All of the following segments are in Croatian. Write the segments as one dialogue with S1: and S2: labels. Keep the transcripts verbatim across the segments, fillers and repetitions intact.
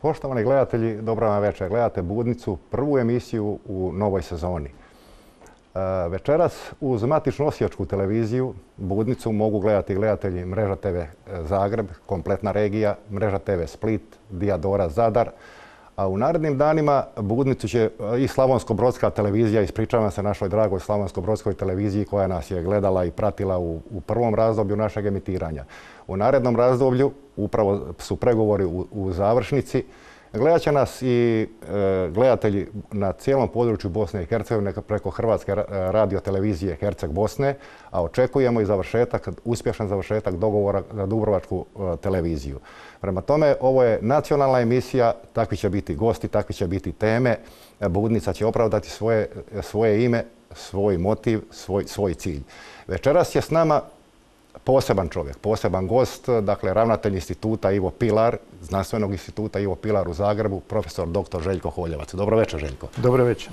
S1: Poštovani gledatelji, dobro vam večer. Gledate Budnicu, prvu emisiju u novoj sezoni. Večeras uz matičnu osječku televiziju Budnicu mogu gledati gledatelji Mreža te ve Zagreb, kompletna regija, Mreža te ve Split, Diadora Zadar. A u narednim danima Budnicu će i Slavonsko-brodska televizija, ispričavam se našoj dragoj Slavonsko-brodskoj televiziji koja nas je gledala i pratila u, u prvom razdoblju našeg emitiranja. U narednom razdoblju upravo su pregovori u, u završnici. Gledat će nas i e, gledatelji na cijelom području Bosne i Hercegovine preko Hrvatske radiotelevizije Herceg Bosne, a očekujemo i završetak, uspješan završetak dogovora za Dubrovačku e, televiziju. Prema tome, ovo je nacionalna emisija, takvi će biti gosti, takvi će biti teme. Budnica će opravdati svoje, svoje ime, svoj motiv, svoj, svoj cilj. Večeras je s nama poseban čovjek, poseban gost, dakle ravnatelj instituta Ivo Pilar, znanstvenog instituta Ivo Pilar u Zagrebu, profesor doktor Željko Holjevac. Dobro večer, Željko.
S2: Dobro večer.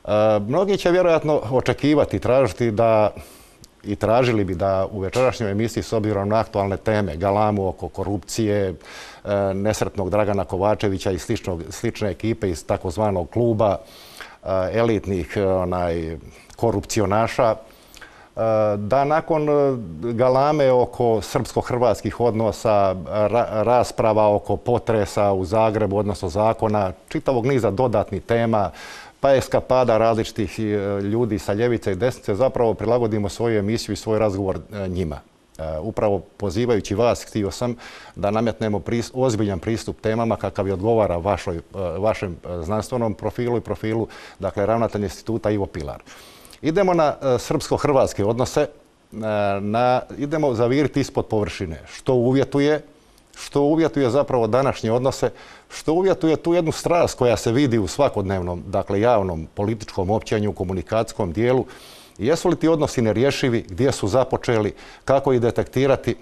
S1: E, mnogi će vjerojatno očekivati, tražiti da i tražili bi da u večerašnjoj emisiji s obzirom na aktualne teme, galamu oko korupcije, e, nesretnog Dragana Kovačevića i sličnog, slične ekipe iz takozvanog kluba e, elitnih onaj, korupcionaša, da nakon galame oko srpsko-hrvatskih odnosa, ra rasprava oko potresa u Zagrebu, odnosno zakona, čitavog niza dodatnih tema, pa eskapada različitih ljudi sa ljevice i desnice, zapravo prilagodimo svoju emisiju i svoj razgovor njima. Upravo pozivajući vas, htio sam da nametnemo pristup, ozbiljan pristup temama kakav je odgovara vašoj, vašem znanstvenom profilu i profilu, dakle, ravnatelj instituta Ivo Pilar. Idemo na srpsko-hrvatske odnose, na, idemo zaviriti ispod površine. Što uvjetuje, što uvjetuje zapravo današnje odnose, što uvjetuje tu jednu strast koja se vidi u svakodnevnom, dakle javnom političkom općenju, komunikacijskom dijelu. Jesu li ti odnosi nerješivi, gdje su započeli, kako ih detektirati,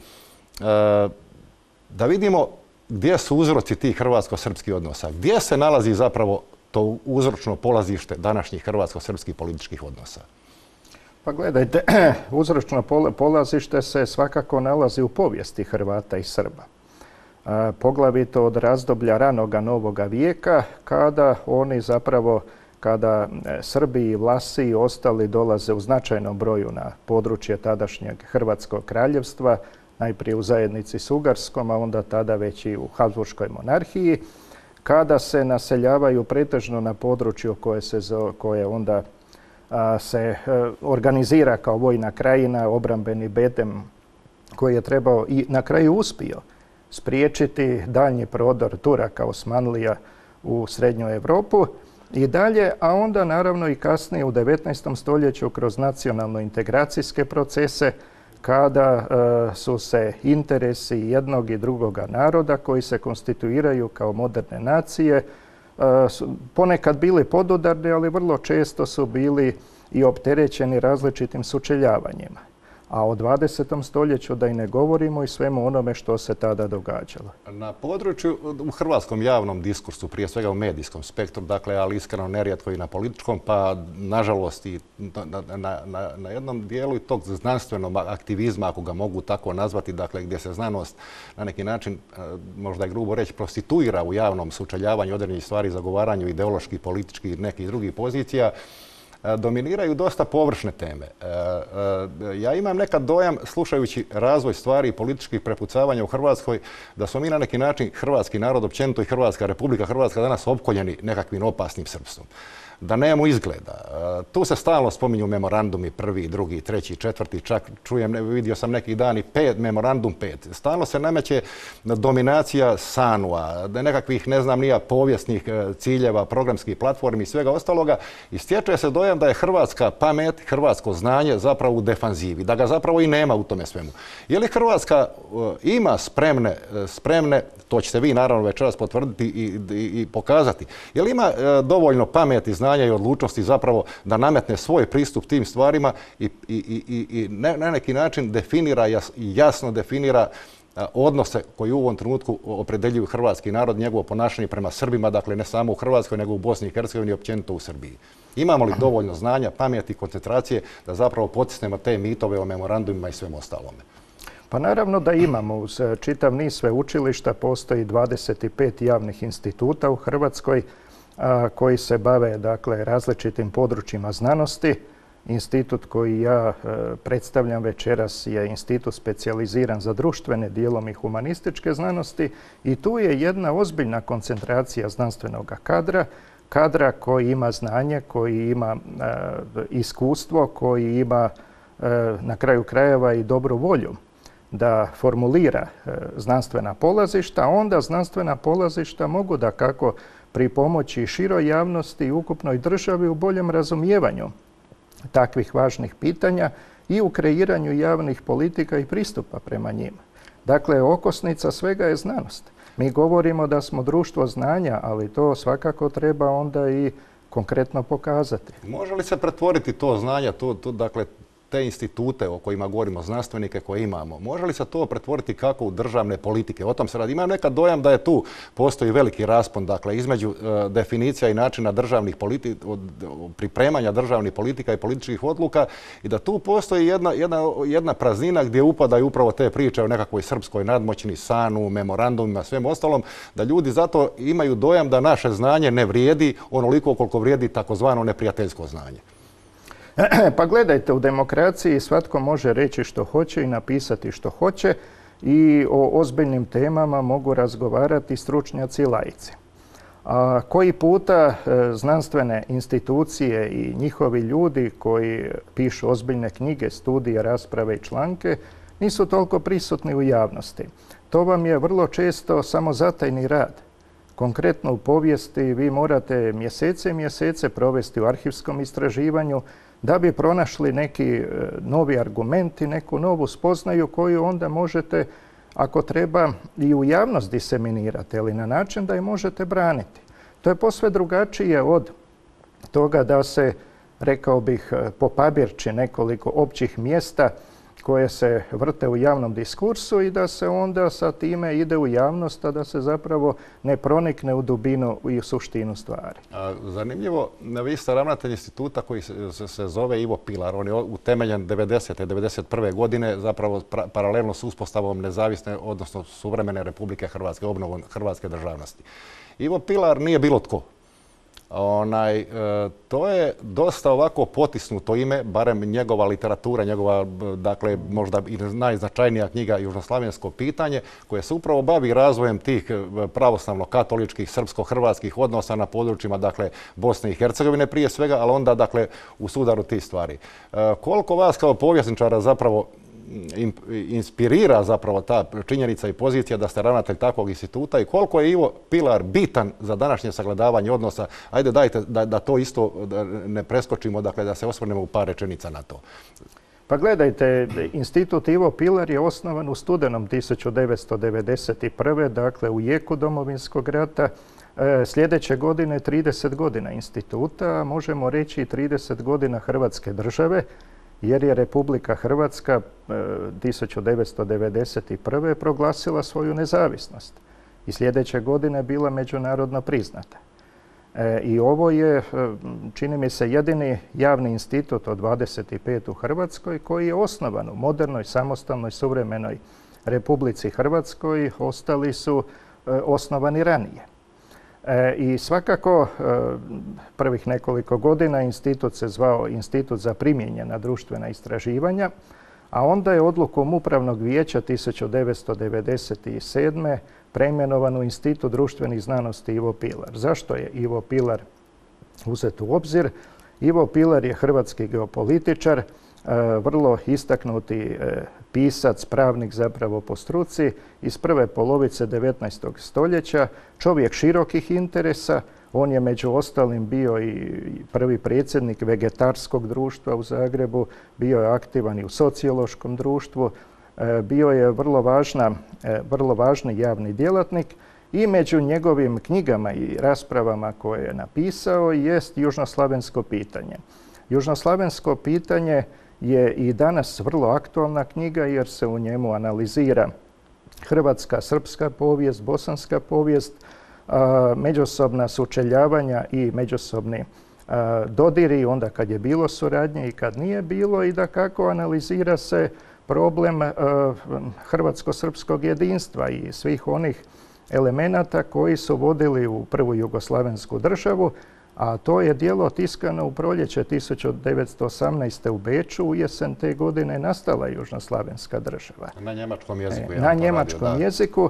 S1: da vidimo gdje su uzroci tih hrvatsko-srpskih odnosa, gdje se nalazi zapravo to uzročno polazište današnjih hrvatsko-srpskih političkih odnosa?
S2: Pa gledajte, uzročno polazište se svakako nalazi u povijesti Hrvata i Srba. A, poglavito od razdoblja ranoga novoga vijeka, kada oni zapravo, kada Srbi i Vlasi i ostali dolaze u značajnom broju na područje tadašnjeg Hrvatskog kraljevstva, najprije u zajednici s Ugarskom, a onda tada već i u Habsburškoj monarhiji, kada se naseljavaju pretežno na području koje, se, koje onda a, se a, organizira kao vojna krajina, obrambeni bedem koji je trebao i na kraju uspio spriječiti daljnji prodor Turaka, Osmanlija u srednju Europu i dalje, a onda naravno i kasnije u devetnaestom stoljeću kroz nacionalno-integracijske procese kada e, su se interesi jednog i drugoga naroda koji se konstituiraju kao moderne nacije e, su ponekad bili podudarni, ali vrlo često su bili i opterećeni različitim sučeljavanjima. A o dvadesetom stoljeću da i ne govorimo i svemu onome što se tada događalo. Na
S1: području, u hrvatskom javnom diskursu, prije svega u medijskom spektru, dakle, ali iskreno nerijetko i na političkom, pa nažalost i na, na, na, na jednom dijelu i tog znanstvenog aktivizma, ako ga mogu tako nazvati, dakle, gdje se znanost na neki način, možda je grubo reći, prostituira u javnom sučeljavanju određenih stvari, zagovaranju ideoloških, političkih i nekih drugih pozicija, dominiraju dosta površne teme. Ja imam nekad dojam, slušajući razvoj stvari i političkih prepucavanja u Hrvatskoj, da smo mi na neki način hrvatski narod, općenito i Hrvatska Republika Hrvatska danas opkoljeni nekakvim opasnim srpstvom. Da nemamo izgleda. Tu se stalno spominju memorandumi, prvi, drugi, treći, četvrti, čak čujem, vidio sam neki dan i pet, memorandum pet. Stalno se nameće dominacija Sanua, nekakvih, ne znam, nija povijesnih ciljeva, programskih platformi i svega ostaloga i stječe se dojam da je hrvatska pamet, hrvatsko znanje zapravo u defanzivi, da ga zapravo i nema u tome svemu. Je li Hrvatska ima spremne, spremne, to ćete vi naravno večeras potvrditi i, i, i pokazati, je li ima dovoljno pameti, znanja i odlučnosti zapravo da nametne svoj pristup tim stvarima i, i, i, i na neki način definira, jasno definira odnose koji u ovom trenutku opredeljuju hrvatski narod, njegovo ponašanje prema Srbima, dakle ne samo u Hrvatskoj, nego u Bosni i Hercegovini i općenito u Srbiji. Imamo li dovoljno znanja, pameti, koncentracije da zapravo potisnemo te mitove o memorandumima i svemu ostalome?
S2: Pa naravno da imamo. Uz čitav niz sveučilišta postoji dvadeset pet javnih instituta u Hrvatskoj a, koji se bave dakle, različitim područjima znanosti. Institut koji ja e, predstavljam večeras je institut specijaliziran za društvene, dijelom i humanističke znanosti i tu je jedna ozbiljna koncentracija znanstvenog kadra, kadra koji ima znanje, koji ima e, iskustvo, koji ima e, na kraju krajeva i dobru volju da formulira e, znanstvena polazišta, a onda znanstvena polazišta mogu da kako pripomoći široj javnosti i ukupnoj državi u boljem razumijevanju takvih važnih pitanja i u kreiranju javnih politika i pristupa prema njima. Dakle, okosnica svega je znanost. Mi govorimo da smo društvo znanja, ali to svakako treba onda i konkretno pokazati.
S1: Može li se pretvoriti to znanje, to, to, dakle, te institute o kojima govorimo, znanstvenike koje imamo, može li se to pretvoriti kako u državne politike? O tom se radi. Imam nekad dojam da je tu postoji veliki raspon, dakle, između uh, definicija i načina državnih politika, pripremanja državnih politika i političkih odluka i da tu postoji jedna, jedna, jedna praznina gdje upadaju upravo te priče o nekakvoj srpskoj nadmoćni, sanu, memorandumima, svem ostalom, da ljudi zato imaju dojam da naše znanje ne vrijedi onoliko koliko vrijedi takozvano neprijateljsko znanje.
S2: Pa gledajte, u demokraciji svatko može reći što hoće i napisati što hoće i o ozbiljnim temama mogu razgovarati stručnjaci i laici. A koji puta e, znanstvene institucije i njihovi ljudi koji pišu ozbiljne knjige, studije, rasprave i članke nisu toliko prisutni u javnosti. To vam je vrlo često samozatajni rad. Konkretno u povijesti vi morate mjesece i mjesece provesti u arhivskom istraživanju da bi pronašli neki novi argument i neku novu spoznaju koju onda možete, ako treba, i u javnost diseminirati, ali na način da je možete braniti. To je posve drugačije od toga da se, rekao bih, popabirči nekoliko općih mjesta koje se vrte u javnom diskursu i da se onda sa time ide u javnost, a da se zapravo ne pronikne u dubinu i u suštinu stvari.
S1: A, zanimljivo, vi ste ravnatelj instituta koji se, se, se zove Ivo Pilar. On je utemeljen devedesete. devedeset prve godine, zapravo pra, paralelno s uspostavom nezavisne, odnosno suvremene Republike Hrvatske, obnovom hrvatske državnosti. Ivo Pilar nije bilo tko. Onaj, e, to je dosta ovako potisnuto ime, barem njegova literatura, njegova, dakle, možda i najznačajnija knjiga Južnoslavensko pitanje, koje se upravo bavi razvojem tih pravoslavno-katoličkih, srpsko-hrvatskih odnosa na područjima, dakle, Bosne i Hercegovine prije svega, ali onda, dakle, u sudaru tih stvari. E, koliko vas kao povjesničara zapravo inspirira zapravo ta činjenica i pozicija da ste ravnatelj takvog instituta i koliko je Ivo Pilar bitan za današnje sagledavanje odnosa? Ajde, dajte da, da to isto da ne preskočimo, dakle da se osvrnemo u par rečenica na to.
S2: Pa gledajte, institut Ivo Pilar je osnovan u studenom tisuću devetsto devedeset prve. dakle u jeku Domovinskog rata. E, sljedeće godine trideset godina instituta, možemo reći i trideset godina Hrvatske države, jer je Republika Hrvatska tisuću devetsto devedeset prve. proglasila svoju nezavisnost i sljedeće godine bila međunarodno priznata. E, I ovo je, čini mi se, jedini javni institut od dvadeset pet u Hrvatskoj koji je osnovan u modernoj, samostalnoj, suvremenoj Republici Hrvatskoj. Ostali su e, osnovani ranije. E, I svakako e, prvih nekoliko godina institut se zvao Institut za primijenjena društvena istraživanja, a onda je odlukom Upravnog vijeća tisuću devetsto devedeset sedme. preimenovan u Institut društvenih znanosti Ivo Pilar. Zašto je Ivo Pilar uzet u obzir? Ivo Pilar je hrvatski geopolitičar, e, vrlo istaknuti e, pisac, pravnik zapravo po struci, iz prve polovice devetnaestog stoljeća, čovjek širokih interesa. On je među ostalim bio i prvi predsjednik Vegetarskog društva u Zagrebu, bio je aktivan i u sociološkom društvu, bio je vrlo, važna, vrlo važni javni djelatnik i među njegovim knjigama i raspravama koje je napisao jest Južnoslavensko pitanje. Južnoslavensko pitanje je i danas vrlo aktualna knjiga jer se u njemu analizira hrvatska, srpska povijest, bosanska povijest, međusobna sučeljavanja i međusobni dodiri onda kad je bilo suradnje i kad nije bilo i da kako analizira se problem hrvatsko-srpskog jedinstva i svih onih elemenata koji su vodili u prvu jugoslavensku državu, a to je djelo tiskano u proljeće tisuću devetsto osamnaeste. u Beču. U jesen te godine nastala južnoslavenska država.
S1: Na njemačkom jeziku.
S2: Na njemačkom jeziku.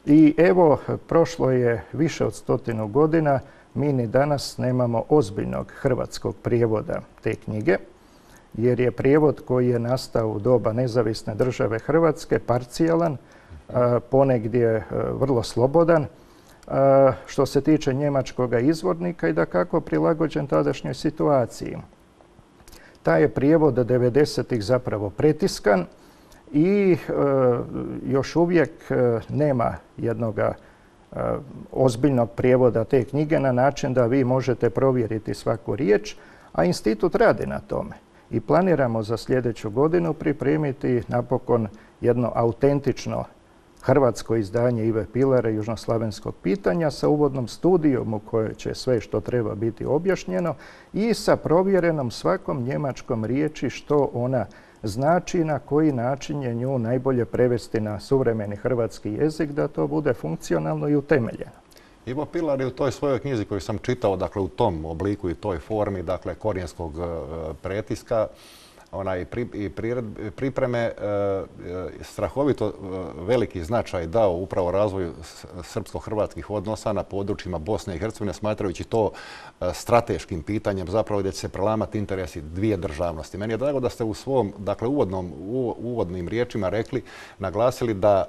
S2: I evo, prošlo je više od stotinu godina, mi ni danas nemamo ozbiljnog hrvatskog prijevoda te knjige, jer je prijevod koji je nastao u doba nezavisne države Hrvatske parcijalan, ponegdje vrlo slobodan, što se tiče njemačkog izvornika i dakako prilagođen tadašnjoj situaciji. Taj je prijevod devedesetih zapravo pretiskan i još uvijek nema jednog ozbiljnog prijevoda te knjige na način da vi možete provjeriti svaku riječ, a institut radi na tome. I planiramo za sljedeću godinu pripremiti napokon jedno autentično hrvatsko izdanje Ive Pilara južnoslavenskog pitanja sa uvodnom studijom u kojoj će sve što treba biti objašnjeno i sa provjerenom svakom njemačkom riječi što ona znači i na koji način je nju najbolje prevesti na suvremeni hrvatski jezik da to bude funkcionalno i utemeljeno.
S1: Ivo Pilar je u toj svojoj knjizi koju sam čitao, dakle u tom obliku i toj formi, dakle korijenskog pretiska, ona i pripreme strahovito veliki značaj dao upravo razvoju srpsko-hrvatskih odnosa na područjima Bosne i Hercegovine, smatrajući to strateškim pitanjem zapravo gdje će se prelamati interesi dvije državnosti. Meni je drago da ste u svom, dakle uvodnom, uvodnim riječima rekli, naglasili da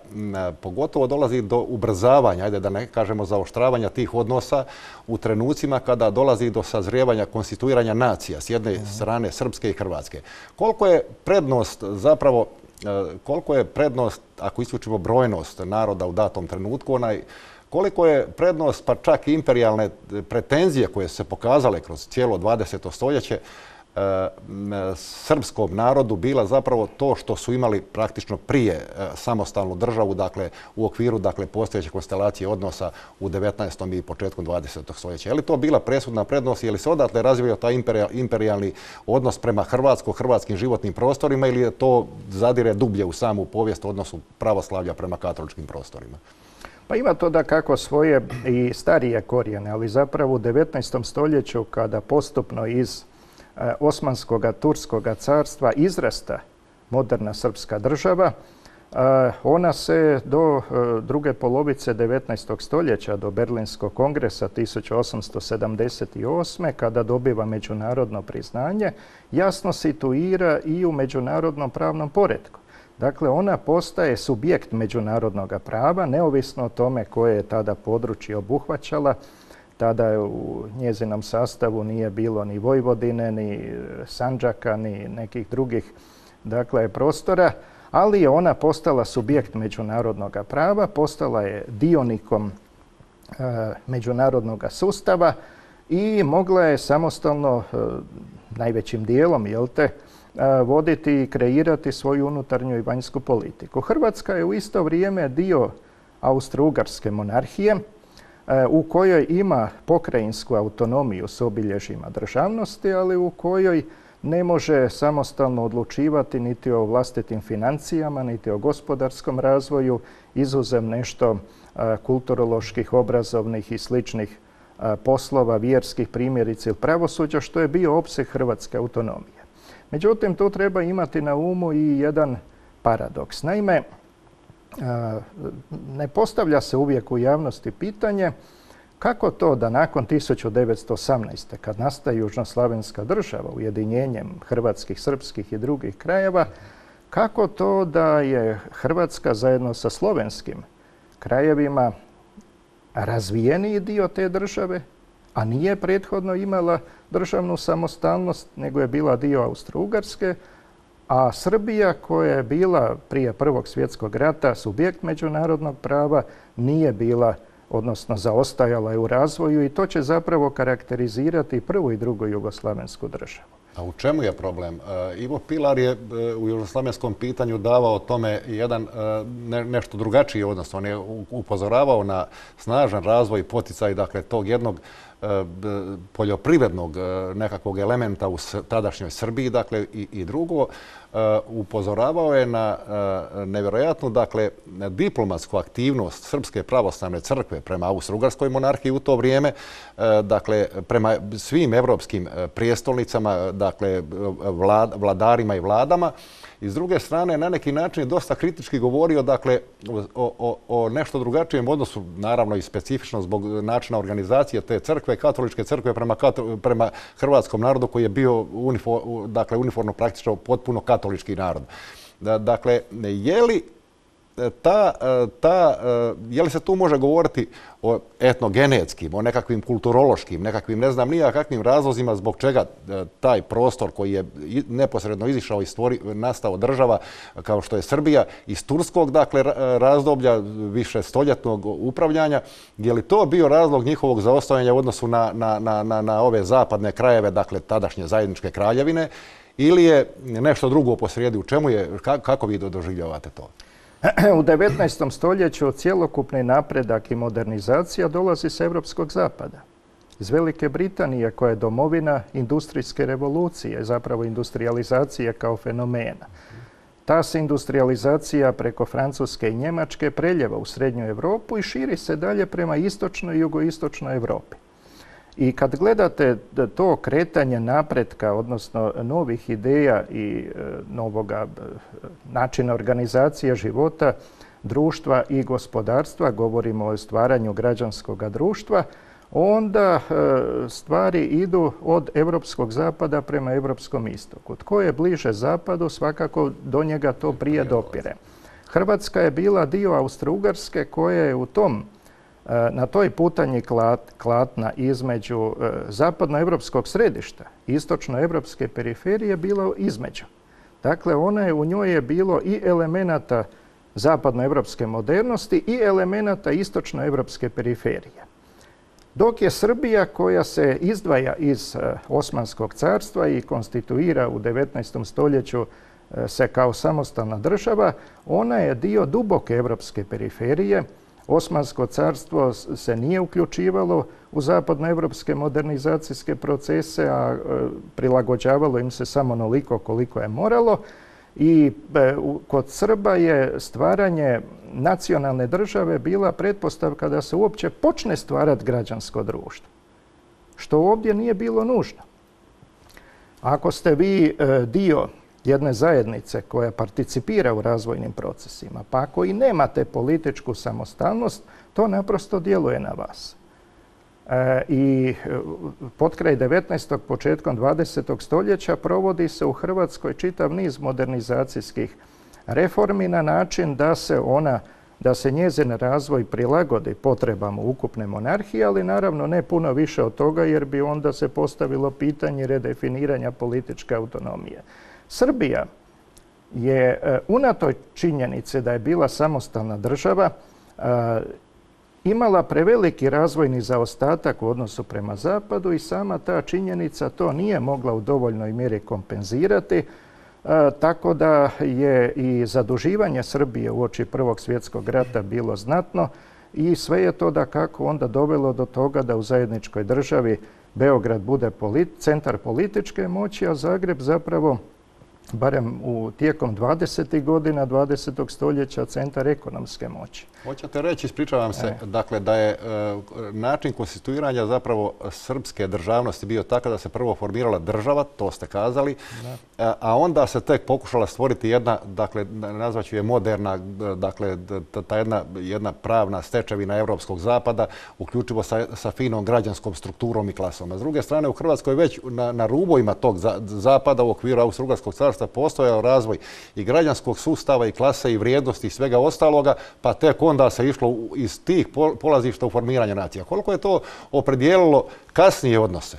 S1: pogotovo dolazi do ubrzavanja, ajde da ne kažemo zaoštravanja tih odnosa u trenucima kada dolazi do sazrijevanja, konstituiranja nacija s jedne strane Srpske i Hrvatske. Koliko je prednost zapravo, koliko je prednost, ako isključimo brojnost naroda u datom trenutku, onaj, koliko je prednost pa čak i imperijalne pretenzije koje su se pokazale kroz cijelo dvadeseto stoljeće srpskom narodu bila zapravo to što su imali praktično prije samostalnu državu, dakle u okviru dakle postojeće konstelacije odnosa u devetnaestom i početkom dvadesetog stoljeća. Je li to bila presudna prednost, je li se odatle razvio taj imperijalni odnos prema hrvatsko-hrvatskim životnim prostorima ili je to zadire dublje u samu povijest odnosu pravoslavlja prema katoličkim prostorima?
S2: Pa ima to da kako svoje i starije korijene, ali zapravo u devetnaestom stoljeću kada postupno iz Osmanskoga, Turskoga carstva izrasta moderna srpska država, ona se do druge polovice devetnaestog stoljeća, do Berlinskog kongresa tisuću osamsto sedamdeset osme. kada dobiva međunarodno priznanje, jasno situira i u međunarodnom pravnom poretku. Dakle, ona postaje subjekt međunarodnog prava, neovisno o tome koje je tada područje obuhvaćala. Tada u njezinom sastavu nije bilo ni Vojvodine, ni Sandžaka, ni nekih drugih dakle, prostora, ali je ona postala subjekt međunarodnog prava, postala je dionikom e, međunarodnog sustava i mogla je samostalno, e, najvećim dijelom, jel te, e, voditi i kreirati svoju unutarnju i vanjsku politiku. Hrvatska je u isto vrijeme dio Austro-Ugarske monarhije, u kojoj ima pokrajinsku autonomiju s obilježjima državnosti, ali u kojoj ne može samostalno odlučivati niti o vlastitim financijama, niti o gospodarskom razvoju, izuzev nešto kulturoloških, obrazovnih i sličnih poslova, vjerskih primjerice ili pravosuđa, što je bio opseg hrvatske autonomije. Međutim, tu treba imati na umu i jedan paradoks. Naime, ne postavlja se uvijek u javnosti pitanje kako to da nakon tisuću devetsto osamnaeste. kad nastaje južnoslavenska država ujedinjenjem hrvatskih, srpskih i drugih krajeva, kako to da je Hrvatska zajedno sa slovenskim krajevima razvijeniji dio te države, a nije prethodno imala državnu samostalnost, nego je bila dio Austro-Ugarske, a Srbija koja je bila prije Prvog svjetskog rata subjekt međunarodnog prava nije bila, odnosno zaostajala je u razvoju i to će zapravo karakterizirati prvu i drugu jugoslavensku državu.
S1: A u čemu je problem? Ivo Pilar je u južnoslavenskom pitanju davao tome jedan nešto drugačiji odnos. On je upozoravao na snažan razvoj i poticaj dakle, tog jednog poljoprivrednog nekakvog elementa u tadašnjoj Srbiji, dakle, i, i drugo, upozoravao je na nevjerojatnu, dakle, diplomatsku aktivnost Srpske pravoslavne crkve prema Austro-Ugarskoj monarhiji u to vrijeme, dakle, prema svim evropskim prijestolnicama, dakle, vlad, vladarima i vladama. I s druge strane, na neki način je dosta kritički govorio, dakle, o, o, o nešto drugačijem odnosu, naravno i specifično zbog načina organizacije te crkve, katoličke crkve prema, prema hrvatskom narodu koji je bio unifor, dakle, uniformno praktično potpuno katolički narod. Dakle, je li Ta, ta, je li se tu može govoriti o etnogenetskim, o nekakvim kulturološkim, nekakvim ne znam nija kakvim razlozima zbog čega taj prostor koji je neposredno izišao i stvori, nastao država kao što je Srbija iz turskog, dakle, razdoblja više stoljetnog upravljanja, je li to bio razlog njihovog zaostajanja u odnosu na, na, na, na ove zapadne krajeve, dakle tadašnje zajedničke kraljevine, ili je nešto drugo posrijedi? U čemu je, kako vi doživljavate to?
S2: U devetnaestom stoljeću cjelokupni napredak i modernizacija dolazi s Evropskog zapada. Iz Velike Britanije, koja je domovina industrijske revolucije, zapravo industrijalizacije kao fenomena. Ta se industrijalizacija preko Francuske i Njemačke preljeva u Srednju Europu i širi se dalje prema istočnoj i jugoistočnoj Europi. I kad gledate to kretanje napretka, odnosno novih ideja i novoga načina organizacije života, društva i gospodarstva, govorimo o stvaranju građanskog društva, onda stvari idu od evropskog zapada prema evropskom istoku. Tko je bliže zapadu, svakako do njega to prije dopire. Hrvatska je bila dio Austro-Ugarske koja je u tom na toj putanji klatna između zapadnoevropskog središta i istočnoevropske periferije bilo između. Dakle, ona je, u njoj je bilo i elemenata zapadnoevropske modernosti i elemenata istočnoevropske periferije. Dok je Srbija, koja se izdvaja iz Osmanskog carstva i konstituira u devetnaestom stoljeću se kao samostalna država, ona je dio duboke evropske periferije. Osmansko carstvo se nije uključivalo u zapadnoevropske modernizacijske procese, a prilagođavalo im se samo onoliko koliko je moralo. I kod Srba je stvaranje nacionalne države bila pretpostavka da se uopće počne stvarati građansko društvo, što ovdje nije bilo nužno. Ako ste vi dio jedne zajednice koja participira u razvojnim procesima, pa ako i nemate političku samostalnost, to naprosto djeluje na vas. E, I potkraj devetnaestog. početkom dvadesetog. stoljeća provodi se u Hrvatskoj čitav niz modernizacijskih reformi na način da se ona, da se njezin razvoj prilagodi potrebama ukupne monarhije, ali naravno ne puno više od toga jer bi onda se postavilo pitanje redefiniranja političke autonomije. Srbija je unatoč činjenice da je bila samostalna država imala preveliki razvojni zaostatak u odnosu prema zapadu i sama ta činjenica to nije mogla u dovoljnoj mjeri kompenzirati, tako da je i zaduživanje Srbije uoči Prvog svjetskog rata bilo znatno i sve je to dakako onda dovelo do toga da u zajedničkoj državi Beograd bude centar političke moći, a Zagreb zapravo barem u tijekom dvadesetih godina dvadesetog. stoljeća centar ekonomske moći.
S1: Hoćete reći, ispričavam se, e. dakle da je e, način konstituiranja zapravo srpske državnosti bio takav da se prvo formirala država, to ste kazali, a, a onda se tek pokušala stvoriti jedna, dakle nazvaću je moderna, dakle ta jedna, jedna pravna stečevina Evropskog zapada, uključivo sa, sa finom građanskom strukturom i klasom. A s druge strane u Hrvatskoj već na, na rubovima tog za, zapada u okviru Austro-Ugarskog carstva postojao razvoj i građanskog sustava i klase i vrijednosti i svega ostaloga, pa tek onda se išlo iz tih polazišta u formiranje nacija. Koliko je to opredijelilo kasnije odnose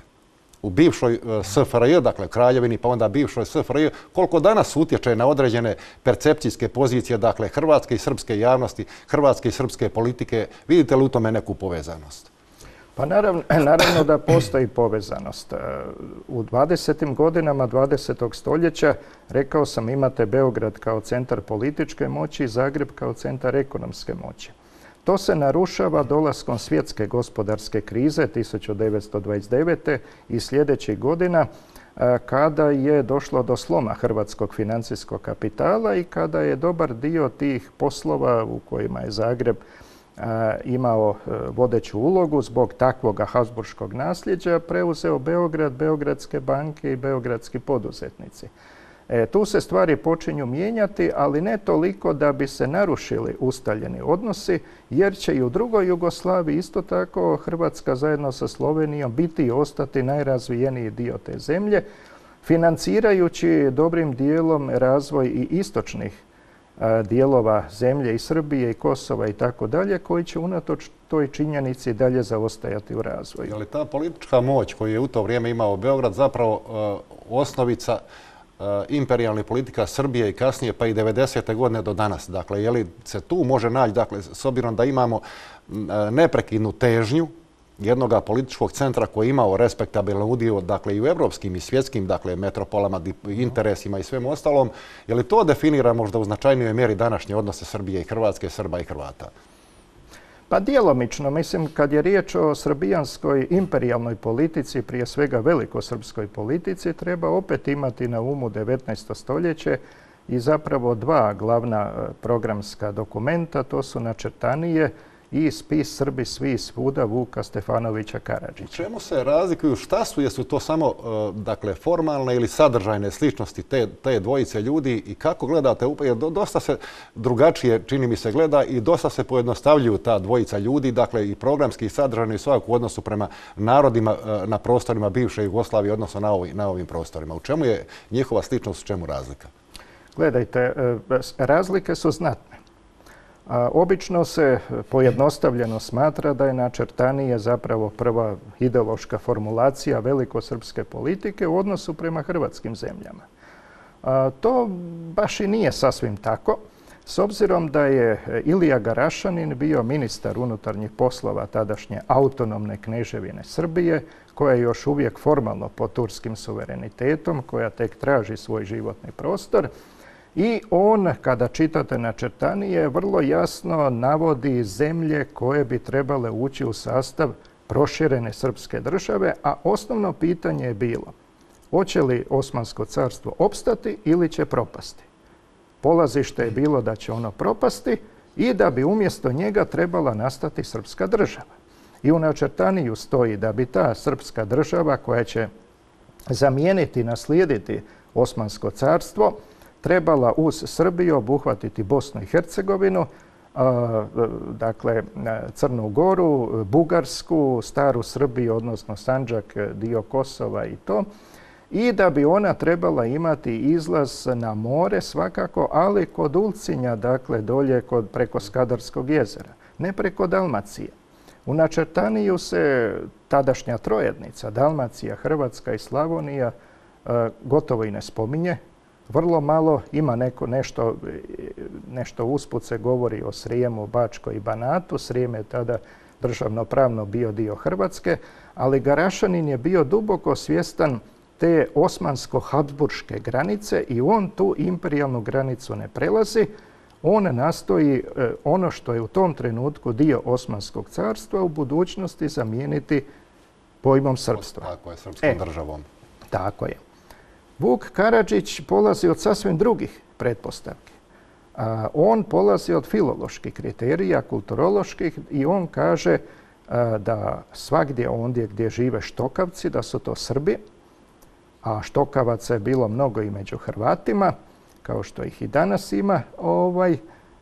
S1: u bivšoj S F R J, dakle Kraljevini, pa onda bivšoj S F R J, koliko danas utječe na određene percepcijske pozicije, dakle Hrvatske i srpske javnosti, Hrvatske i srpske politike? Vidite li u tome neku povezanost?
S2: Pa naravno, naravno da postoji povezanost. U dvadesetim godinama dvadesetog. stoljeća, rekao sam, imate Beograd kao centar političke moći i Zagreb kao centar ekonomske moći. To se narušava dolaskom svjetske gospodarske krize tisuću devetsto dvadeset devete i sljedećih godina, kada je došlo do sloma hrvatskog financijskog kapitala i kada je dobar dio tih poslova u kojima je Zagreb imao vodeću ulogu zbog takvoga habsburškog nasljeđa preuzeo Beograd, Beogradske banke i beogradski poduzetnici. E, tu se stvari počinju mijenjati, ali ne toliko da bi se narušili ustaljeni odnosi, jer će i u drugoj Jugoslaviji isto tako Hrvatska zajedno sa Slovenijom biti i ostati najrazvijeniji dio te zemlje, financirajući dobrim dijelom razvoj i istočnih a, dijelova zemlje i Srbije i Kosova i tako dalje, koji će unatoč toj činjenici dalje zaostajati u razvoju.
S1: Je li ta politička moć koju je u to vrijeme imao Beograd zapravo uh, osnovica imperijalnih politika Srbije i kasnije pa i devedesete godine do danas? Dakle, je li se tu može naći, dakle, s obzirom da imamo neprekidnu težnju jednoga političkog centra koji je imao respektabilan udio, dakle, i u evropskim i svjetskim, dakle, metropolama, interesima i svem ostalom, je li to definira možda u značajnijoj mjeri današnje odnose Srbije i Hrvatske, Srba i Hrvata?
S2: Pa djelomično, mislim, kad je riječ o srbijanskoj imperijalnoj politici, prije svega velikosrpskoj politici, treba opet imati na umu devetnaesto stoljeće i zapravo dva glavna programska dokumenta, to su Načrtanije i Spis Srbi svi svuda Vuka Stefanovića Karadžića.
S1: Čemu se razlikuju? Šta su? Jesu to samo dakle, formalne ili sadržajne sličnosti te, te dvojice ljudi i kako gledate? Jer dosta se drugačije, čini mi se, gleda i dosta se pojednostavljuju ta dvojica ljudi, dakle i programski i sadržajno i svakako u odnosu prema narodima na prostorima bivše Jugoslavije, odnosno na, ovi, na ovim prostorima. U čemu je njihova sličnost, u čemu razlika?
S2: Gledajte, razlike su znatne. A, obično se pojednostavljeno smatra da je Načrtanije zapravo prva ideološka formulacija velikosrpske politike u odnosu prema hrvatskim zemljama. A, to baš i nije sasvim tako, s obzirom da je Ilija Garašanin bio ministar unutarnjih poslova tadašnje autonomne kneževine Srbije, koja je još uvijek formalno pod turskim suverenitetom, koja tek traži svoj životni prostor. I on, kada čitate Načrtanije, vrlo jasno navodi zemlje koje bi trebale ući u sastav proširene srpske države, a osnovno pitanje je bilo hoće li Osmansko carstvo opstati ili će propasti. Polazište je bilo da će ono propasti i da bi umjesto njega trebala nastati srpska država. I u Načrtaniju stoji da bi ta srpska država koja će zamijeniti, naslijediti Osmansko carstvo, trebala uz Srbiju obuhvatiti Bosnu i Hercegovinu, dakle Crnu Goru, Bugarsku, Staru Srbiju, odnosno Sandžak, dio Kosova i to, i da bi ona trebala imati izlaz na more svakako, ali kod Ulcinja, dakle dolje kod, preko Skadarskog jezera, ne preko Dalmacije. U Načrtaniju se tadašnja trojednica, Dalmacija, Hrvatska i Slavonija, gotovo i ne spominje. Vrlo malo ima neko, nešto, nešto usput se govori o Srijemu, Bačkoj i Banatu. Srijem je tada državnopravno bio dio Hrvatske, ali Garašanin je bio duboko svjestan te osmansko-habsburške granice i on tu imperijalnu granicu ne prelazi. On nastoji ono što je u tom trenutku dio Osmanskog carstva u budućnosti zamijeniti pojmom srpstva.
S1: Tako je, srpskom e, državom.
S2: Tako je. Vuk Karadžić polazi od sasvim drugih pretpostavki. A, on polazi od filoloških kriterija, kulturoloških, i on kaže a, da svagdje ondje gdje žive štokavci, da su to Srbi, a štokavaca je bilo mnogo i među Hrvatima, kao što ih i danas ima. Ovaj,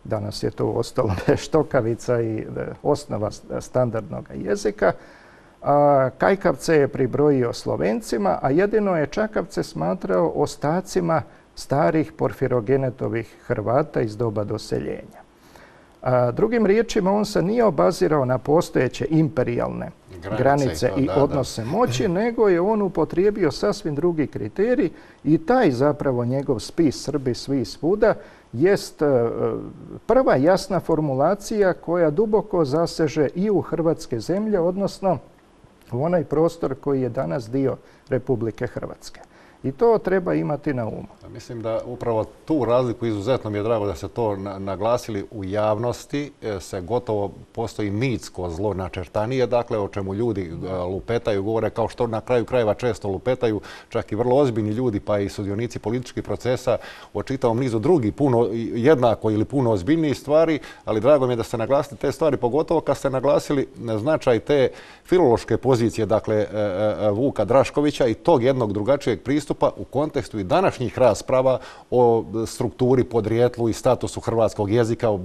S2: danas je to ostalo štokavica i osnova standardnog jezika. A kajkavce je pribrojio Slovencima, a jedino je čakavce smatrao ostacima starih porfirogenetovih Hrvata iz doba doseljenja. A drugim riječima, on se nije obazirao na postojeće imperijalne granice, granice i, to, i da, odnose da. moći, nego je on upotrijebio sasvim drugi kriterij i taj zapravo njegov spis Srbi svi svuda jest prva jasna formulacija koja duboko zaseže i u hrvatske zemlje, odnosno u onaj prostor koji je danas dio Republike Hrvatske. I to treba imati na umu.
S1: Mislim da upravo tu razliku, izuzetno mi je drago da se to naglasili u javnosti, se gotovo postoji mitsko zlo načrtanije, dakle o čemu ljudi lupetaju, govore kao što na kraju krajeva često lupetaju, čak i vrlo ozbiljni ljudi pa i sudionici političkih procesa o čitavom nizu drugih, puno jednako ili puno ozbiljnijih stvari, ali drago mi je da ste naglasili te stvari, pogotovo kad ste naglasili značaj te filološke pozicije, dakle Vuka Draškovića i tog jednog drugačijeg pristupa u kontekstu i današnjih rasprava o strukturi, podrijetlu i statusu hrvatskog jezika, o,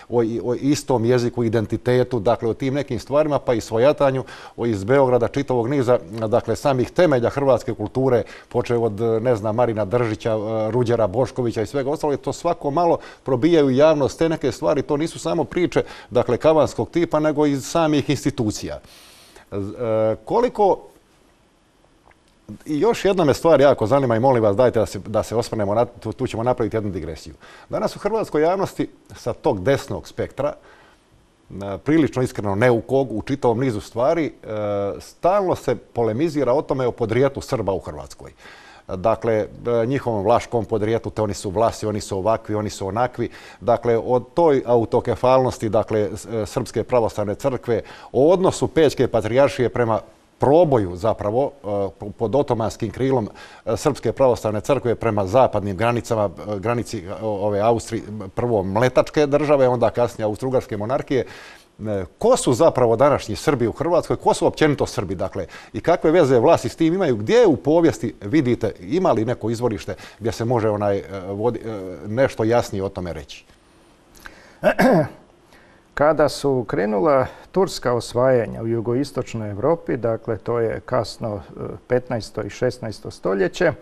S1: o, o istom jeziku, identitetu, dakle o tim nekim stvarima, pa i svojatanju o iz Beograda čitavog niza, dakle samih temelja hrvatske kulture, počev od, ne znam, Marina Držića, Ruđera Boškovića i svega ostalog, to svako malo probijaju javnost te neke stvari, to nisu samo priče, dakle, kavanskog tipa, nego iz samih institucija. E, koliko I još jedna me stvar jako zanima i molim vas dajte da se, da se osvrnemo, na, tu, tu ćemo napraviti jednu digresiju. Danas u hrvatskoj javnosti sa tog desnog spektra, prilično iskreno neukog u čitavom nizu stvari, stalno se polemizira o tome o podrijetlu Srba u Hrvatskoj. Dakle, njihovom vlaškom podrijetlu, te oni su Vlasi, oni su ovakvi, oni su onakvi. Dakle, o toj autokefalnosti, dakle, Srpske pravoslavne crkve, o odnosu Pećke patrijaršije prema proboju zapravo pod otomanskim krilom Srpske pravoslavne crkve prema zapadnim granicama, granici ove Austrije, prvo mletačke države, onda kasnije Austro-Ugarske monarhije. Ko su zapravo današnji Srbi u Hrvatskoj? Ko su općenito Srbi? Dakle, i kakve veze vlasti s tim imaju? Gdje u povijesti vidite, ima li neko izvorište gdje se može onaj vodi, nešto jasnije o tome reći?
S2: Kada su krenula turska osvajanja u jugoistočnoj Europi, dakle to je kasno petnaesto i šesnaesto stoljeće,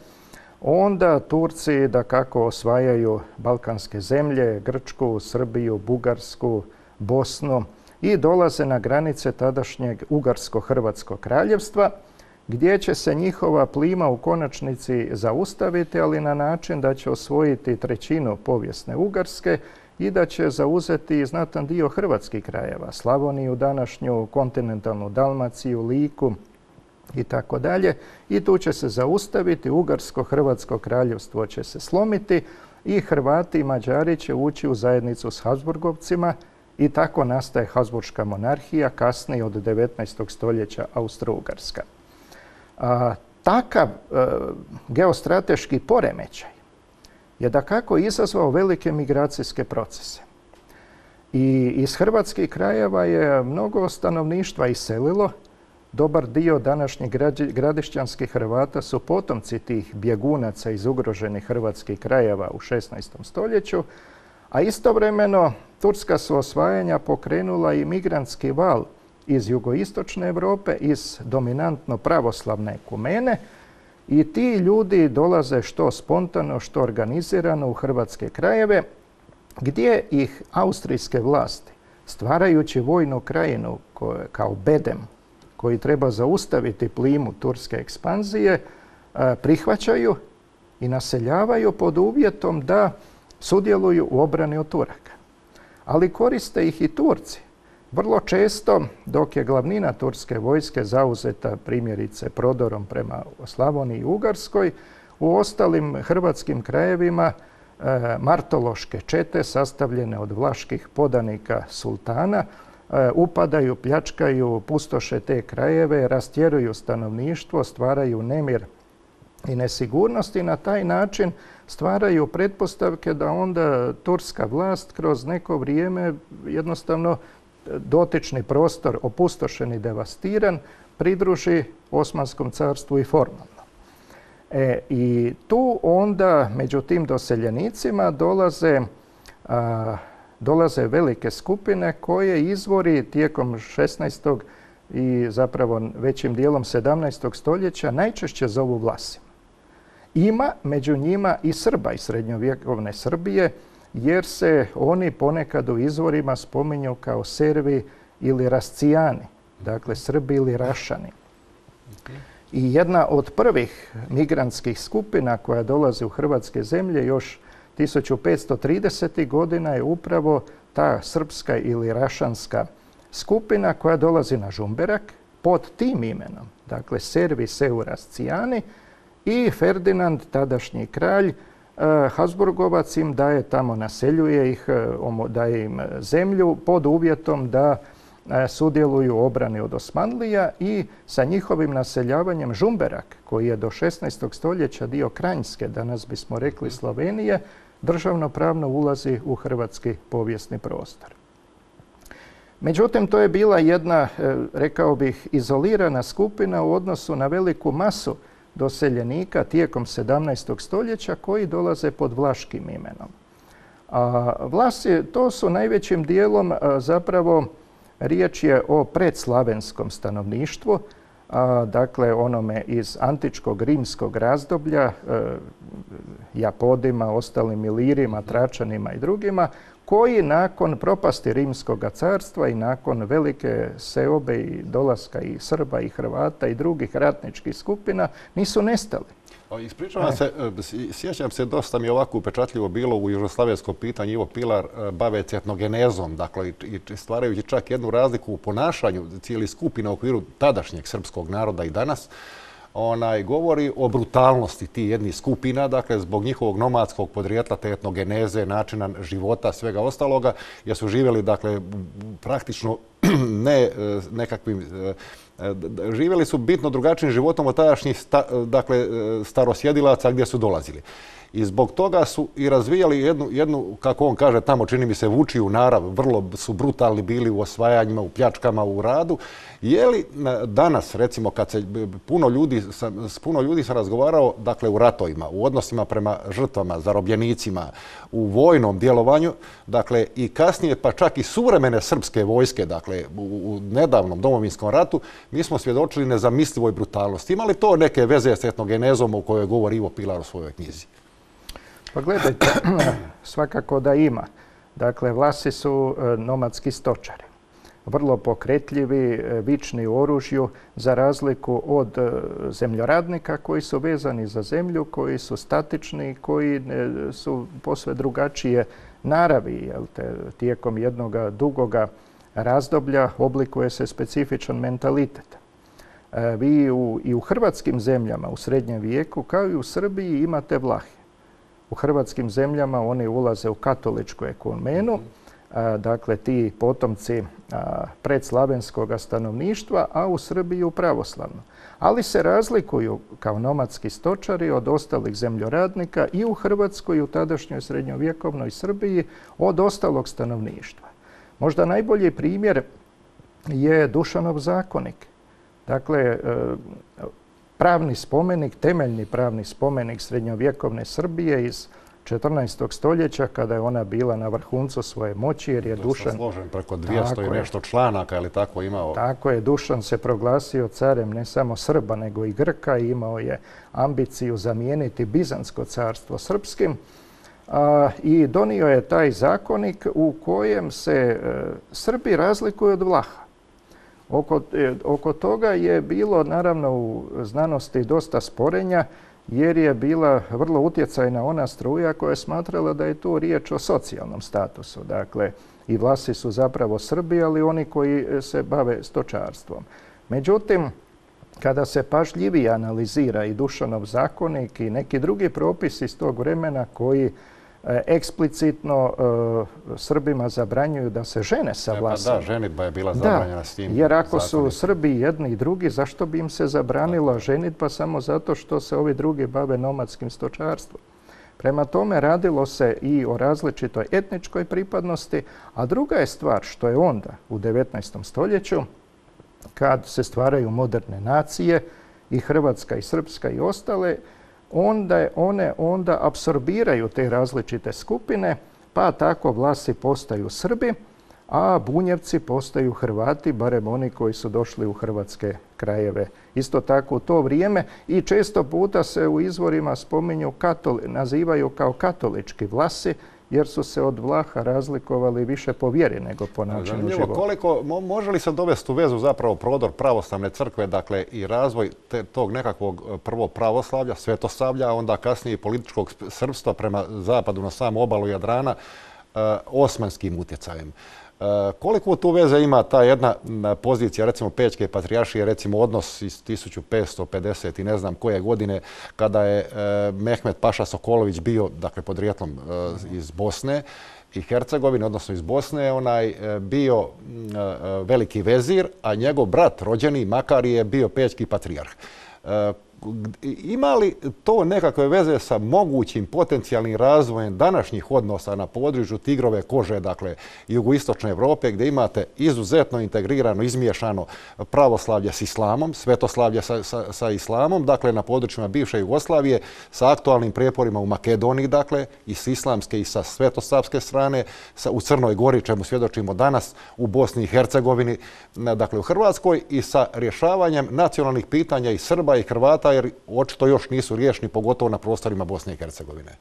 S2: onda Turci dakako osvajaju balkanske zemlje, Grčku, Srbiju, Bugarsku, Bosnu i dolaze na granice tadašnjeg Ugarsko-Hrvatskog kraljevstva, gdje će se njihova plima u konačnici zaustaviti, ali na način da će osvojiti trećinu povijesne Ugarske i da će zauzeti znatan dio hrvatskih krajeva, Slavoniju, današnju kontinentalnu Dalmaciju, Liku i tako dalje. I tu će se zaustaviti, Ugarsko-Hrvatsko kraljevstvo će se slomiti i Hrvati i Mađari će ući u zajednicu s Habsburgovcima i tako nastaje Habsburška monarhija, kasnije od devetnaestog stoljeća Austro-Ugarska. A, takav a, geostrateški poremećaj je dakako izazvao velike migracijske procese. I iz hrvatskih krajeva je mnogo stanovništva iselilo. Dobar dio današnjih gradišćanskih Hrvata su potomci tih bjegunaca iz ugroženih hrvatskih krajeva u šesnaestom stoljeću, a istovremeno turska su osvajanja pokrenula i migrantski val iz jugoistočne Europe, iz dominantno pravoslavne ekumene, i ti ljudi dolaze što spontano, što organizirano u hrvatske krajeve, gdje ih austrijske vlasti, stvarajući vojnu krajinu kao bedem koji treba zaustaviti plimu turske ekspanzije, prihvaćaju i naseljavaju pod uvjetom da sudjeluju u obrani od Turaka. Ali koriste ih i Turci. Vrlo često, dok je glavnina turske vojske zauzeta primjerice prodorom prema Slavoniji i Ugarskoj, u ostalim hrvatskim krajevima e, martološke čete sastavljene od vlaških podanika sultana e, upadaju, pljačkaju, pustoše te krajeve, rastjeruju stanovništvo, stvaraju nemir i nesigurnost i na taj način stvaraju pretpostavke da onda turska vlast kroz neko vrijeme jednostavno dotični prostor opustošen i devastiran pridruži Osmanskom carstvu i formalno. E, I tu onda među tim doseljenicima dolaze, a, dolaze velike skupine koje izvori tijekom šesnaestog i zapravo većim dijelom sedamnaestog stoljeća najčešće zovu Vlasima. Ima među njima i Srba iz srednjovjekovne Srbije, jer se oni ponekad u izvorima spominju kao Servi ili Rascijani, dakle Srbi ili Rašani. I jedna od prvih migrantskih skupina koja dolazi u hrvatske zemlje još tisuću petsto tridesetih godina je upravo ta srpska ili rašanska skupina koja dolazi na Žumberak pod tim imenom, dakle Servi Seu Rascijani, i Ferdinand, tadašnji kralj, Habsburgovac im daje tamo, naseljuje ih, daje im zemlju pod uvjetom da sudjeluju u obrani od Osmanlija i sa njihovim naseljavanjem Žumberak, koji je do šesnaestog stoljeća dio Kranjske, danas bismo rekli Slovenije, državno-pravno ulazi u hrvatski povijesni prostor. Međutim, to je bila jedna, rekao bih, izolirana skupina u odnosu na veliku masu doseljenika tijekom sedamnaestog stoljeća koji dolaze pod vlaškim imenom. A Vlasi, to su najvećim dijelom zapravo riječ je o predslavenskom stanovništvu, a, dakle onome iz antičkog rimskog razdoblja, e, Japodima, ostalim Ilirima, Tračanima i drugima, koji nakon propasti Rimskog carstva i nakon velike seobe i dolaska i Srba i Hrvata i drugih ratničkih skupina nisu nestali.
S1: Ispričavam se, sjećam se, dosta mi je ovako upečatljivo bilo u južnoslavenskom pitanju Ivo Pilar baveći etnogenezom, dakle i stvarajući čak jednu razliku u ponašanju cijeli skupina u okviru tadašnjeg srpskog naroda i danas. Onaj, govori o brutalnosti tih jednih skupina, dakle, zbog njihovog nomadskog podrijetla, te etnogeneze, načina života, svega ostaloga, jer su živjeli, dakle, praktično ne nekakvim, živjeli su bitno drugačijim životom od tadašnjih sta, dakle, starosjedilaca gdje su dolazili. I zbog toga su i razvijali jednu, jednu, kako on kaže, tamo čini mi se vučiju narav, vrlo su brutalni bili u osvajanjima, u pljačkama, u radu. Je li danas, recimo, kad se puno ljudi, s puno ljudi sam razgovarao, dakle, u ratovima, u odnosima prema žrtvama, zarobljenicima, u vojnom djelovanju, dakle, i kasnije, pa čak i suvremene srpske vojske, dakle, u, u nedavnom domovinskom ratu, mi smo svjedočili nezamislivoj brutalnosti. Ima li to neke veze s etnogenezom o kojoj govori Ivo Pilar u svojoj knjizi?
S2: Pa gledajte, svakako da ima. Dakle, Vlasi su nomadski stočari. Vrlo pokretljivi, vični u oružju, za razliku od zemljoradnika koji su vezani za zemlju, koji su statični, koji su posve drugačije naravi. Jel te, tijekom jednog dugoga razdoblja oblikuje se specifičan mentalitet. Vi u, i u hrvatskim zemljama u srednjem vijeku, kao i u Srbiji, imate Vlahe. U hrvatskim zemljama oni ulaze u katoličku ekumenu, dakle ti potomci predslavenskog stanovništva, a u Srbiji u pravoslavno. Ali se razlikuju kao nomadski stočari od ostalih zemljoradnika i u Hrvatskoj i u tadašnjoj srednjovjekovnoj Srbiji od ostalog stanovništva. Možda najbolji primjer je Dušanov zakonik. Dakle, pravni spomenik, temeljni pravni spomenik srednjovjekovne Srbije iz četrnaestog stoljeća, kada je ona bila na vrhuncu svoje moći, jer je Dušan...
S1: složen preko dvjesto i nešto članaka, ali tako imao...
S2: Tako je, Dušan se proglasio carem ne samo Srba, nego i Grka i imao je ambiciju zamijeniti Bizantsko carstvo srpskim. A, I donio je taj zakonik u kojem se e, Srbi razlikuju od Vlaha. Oko, oko toga je bilo, naravno, u znanosti dosta sporenja, jer je bila vrlo utjecajna ona struja koja je smatrala da je tu riječ o socijalnom statusu. Dakle, i Vlasi su zapravo Srbi, ali oni koji se bave stočarstvom. Međutim, kada se pažljivije analizira i Dušanov zakonik i neki drugi propisi iz tog vremena koji eksplicitno uh, Srbima zabranjuju da se žene sa Vlasima.
S1: Da, ženidba je bila zabranjena s tim.
S2: Jer ako su Srbi jedni i drugi, zašto bi im se zabranila ženidba samo zato što se ovi drugi bave nomadskim stočarstvom? Prema tome radilo se i o različitoj etničkoj pripadnosti, a druga je stvar što je onda u devetnaestom stoljeću, kad se stvaraju moderne nacije, i Hrvatska i Srpska i ostale, onda one onda apsorbiraju te različite skupine, pa tako Vlasi postaju Srbi, a Bunjevci postaju Hrvati, barem oni koji su došli u hrvatske krajeve. Isto tako u to vrijeme i često puta se u izvorima spominju, katoli, nazivaju kao katolički Vlasi, jer su se od Vlaha razlikovali više po vjeri nego po načinu života.
S1: Koliko, može li se dovesti u vezu zapravo prodor pravoslavne crkve, dakle i razvoj te, tog nekakvog prvo pravoslavlja, svetosavlja, a onda kasnije i političkog srpstva prema zapadu na samu obalu Jadrana, osmanskim utjecajem? Koliko tu veze ima ta jedna pozicija, recimo Pećke patrijaršije, recimo odnos iz tisuću petsto pedeset i ne znam koje godine, kada je Mehmet Paša Sokolović bio, dakle, podrijetlom iz Bosne i Hercegovine, odnosno iz Bosne, onaj bio veliki vezir, a njegov brat rođeni Makari je bio Pećki patrijarh. Ima li to nekakve veze sa mogućim potencijalnim razvojem današnjih odnosa na području tigrove kože, dakle, jugoistočne Evrope, gdje imate izuzetno integrirano, izmiješano pravoslavlje s islamom, svetoslavlje sa, sa, sa islamom, dakle, na područjima bivše Jugoslavije, sa aktualnim prijeporima u Makedoniji, dakle, i s islamske i sa svetosavske strane, sa, u Crnoj Gori, čemu svjedočimo danas, u Bosni i Hercegovini, dakle, u Hrvatskoj, i sa rješavanjem nacionalnih pitanja i Srba i Hrvata, jer očito još nisu riješeni, pogotovo na prostorima Bosne i Hercegovine.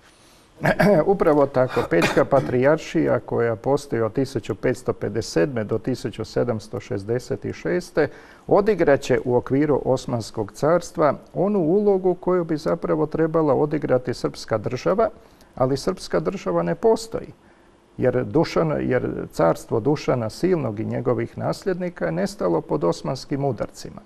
S2: Upravo tako. Pećka patrijaršija koja postoji od tisuću petsto pedeset sedme do tisuću sedamsto šezdeset šeste odigraće u okviru Osmanskog carstva onu ulogu koju bi zapravo trebala odigrati srpska država, ali srpska država ne postoji. Jer, Dušan, jer carstvo Dušana Silnog i njegovih nasljednika je nestalo pod osmanskim udarcima.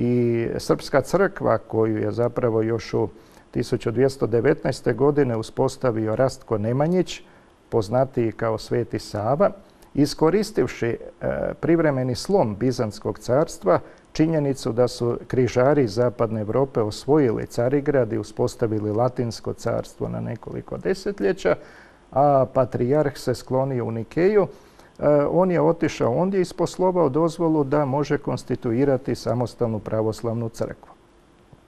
S2: I srpska crkva, koju je zapravo još u tisuću dvjesto devetnaeste. godine uspostavio Rastko Nemanjić, poznatiji kao Sveti Sava, iskoristivši e, privremeni slom Bizantskog carstva, činjenicu da su križari iz zapadne Europe osvojili Carigrad i uspostavili Latinsko carstvo na nekoliko desetljeća, a patrijarh se sklonio u Nikeju, on je otišao ondje i isposlovao dozvolu da može konstituirati samostalnu pravoslavnu crkvu.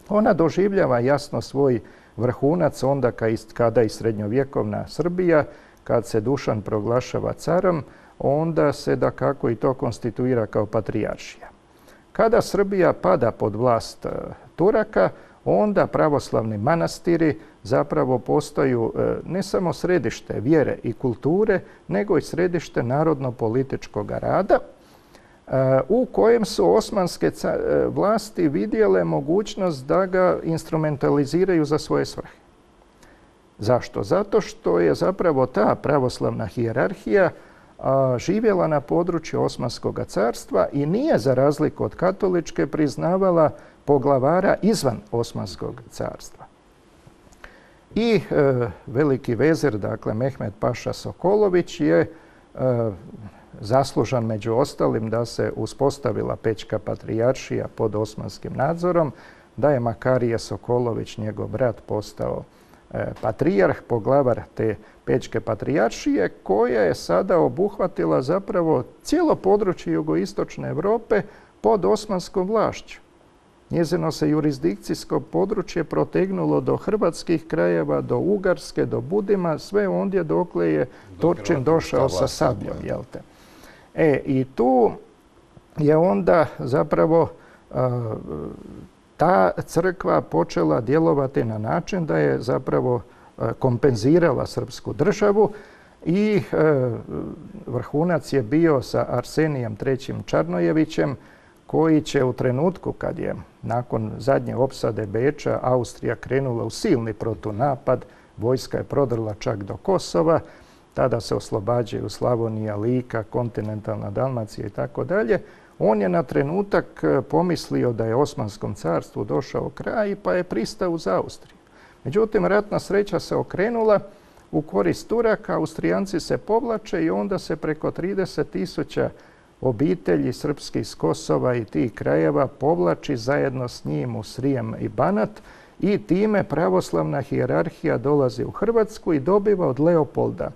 S2: Ona doživljava jasno svoj vrhunac onda kada i srednjovjekovna Srbija, kad se Dušan proglašava carom, onda se dakako i to konstituira kao patrijaršija. Kada Srbija pada pod vlast Turaka, onda pravoslavni manastiri zapravo postaju ne samo središte vjere i kulture, nego i središte narodno-političkog rada, u kojem su osmanske vlasti vidjele mogućnost da ga instrumentaliziraju za svoje svrhe. Zašto? Zato što je zapravo ta pravoslavna hijerarhija živjela na području Osmanskog carstva i nije, za razliku od katoličke, priznavala poglavara izvan Osmanskog carstva. I e, veliki vezir, dakle Mehmet Paša Sokolović, je e, zaslužan među ostalim da se uspostavila Pećka patrijaršija pod osmanskim nadzorom, da je Makarije Sokolović, njegov brat, postao e, patrijarh, poglavar te Pećke patrijaršije, koja je sada obuhvatila zapravo cijelo područje jugoistočne Europe pod osmanskom vlašću. Njezino se jurisdikcijsko područje protegnulo do hrvatskih krajeva, do Ugarske, do Budima, sve ondje dokle je Turčin došao sa sabljom. Jel te? E, i tu je onda zapravo a, ta crkva počela djelovati na način da je zapravo a, kompenzirala srpsku državu i a, vrhunac je bio sa Arsenijem trećim Čarnojevićem, koji će u trenutku kad je nakon zadnje opsade Beča Austrija krenula u silni protunapad, vojska je prodrla čak do Kosova, tada se oslobađaju Slavonija, Lika, kontinentalna Dalmacija i tako dalje. On je na trenutak pomislio da je Osmanskom carstvu došao kraj pa je pristao uz Austriju. Međutim, ratna sreća se okrenula u korist Turaka, Austrijanci se povlače i onda se preko trideset tisuća obitelji srpskih s Kosova i tih krajeva povlači zajedno s njim u Srijem i Banat i time pravoslavna hijerarhija dolazi u Hrvatsku i dobiva od Leopolda,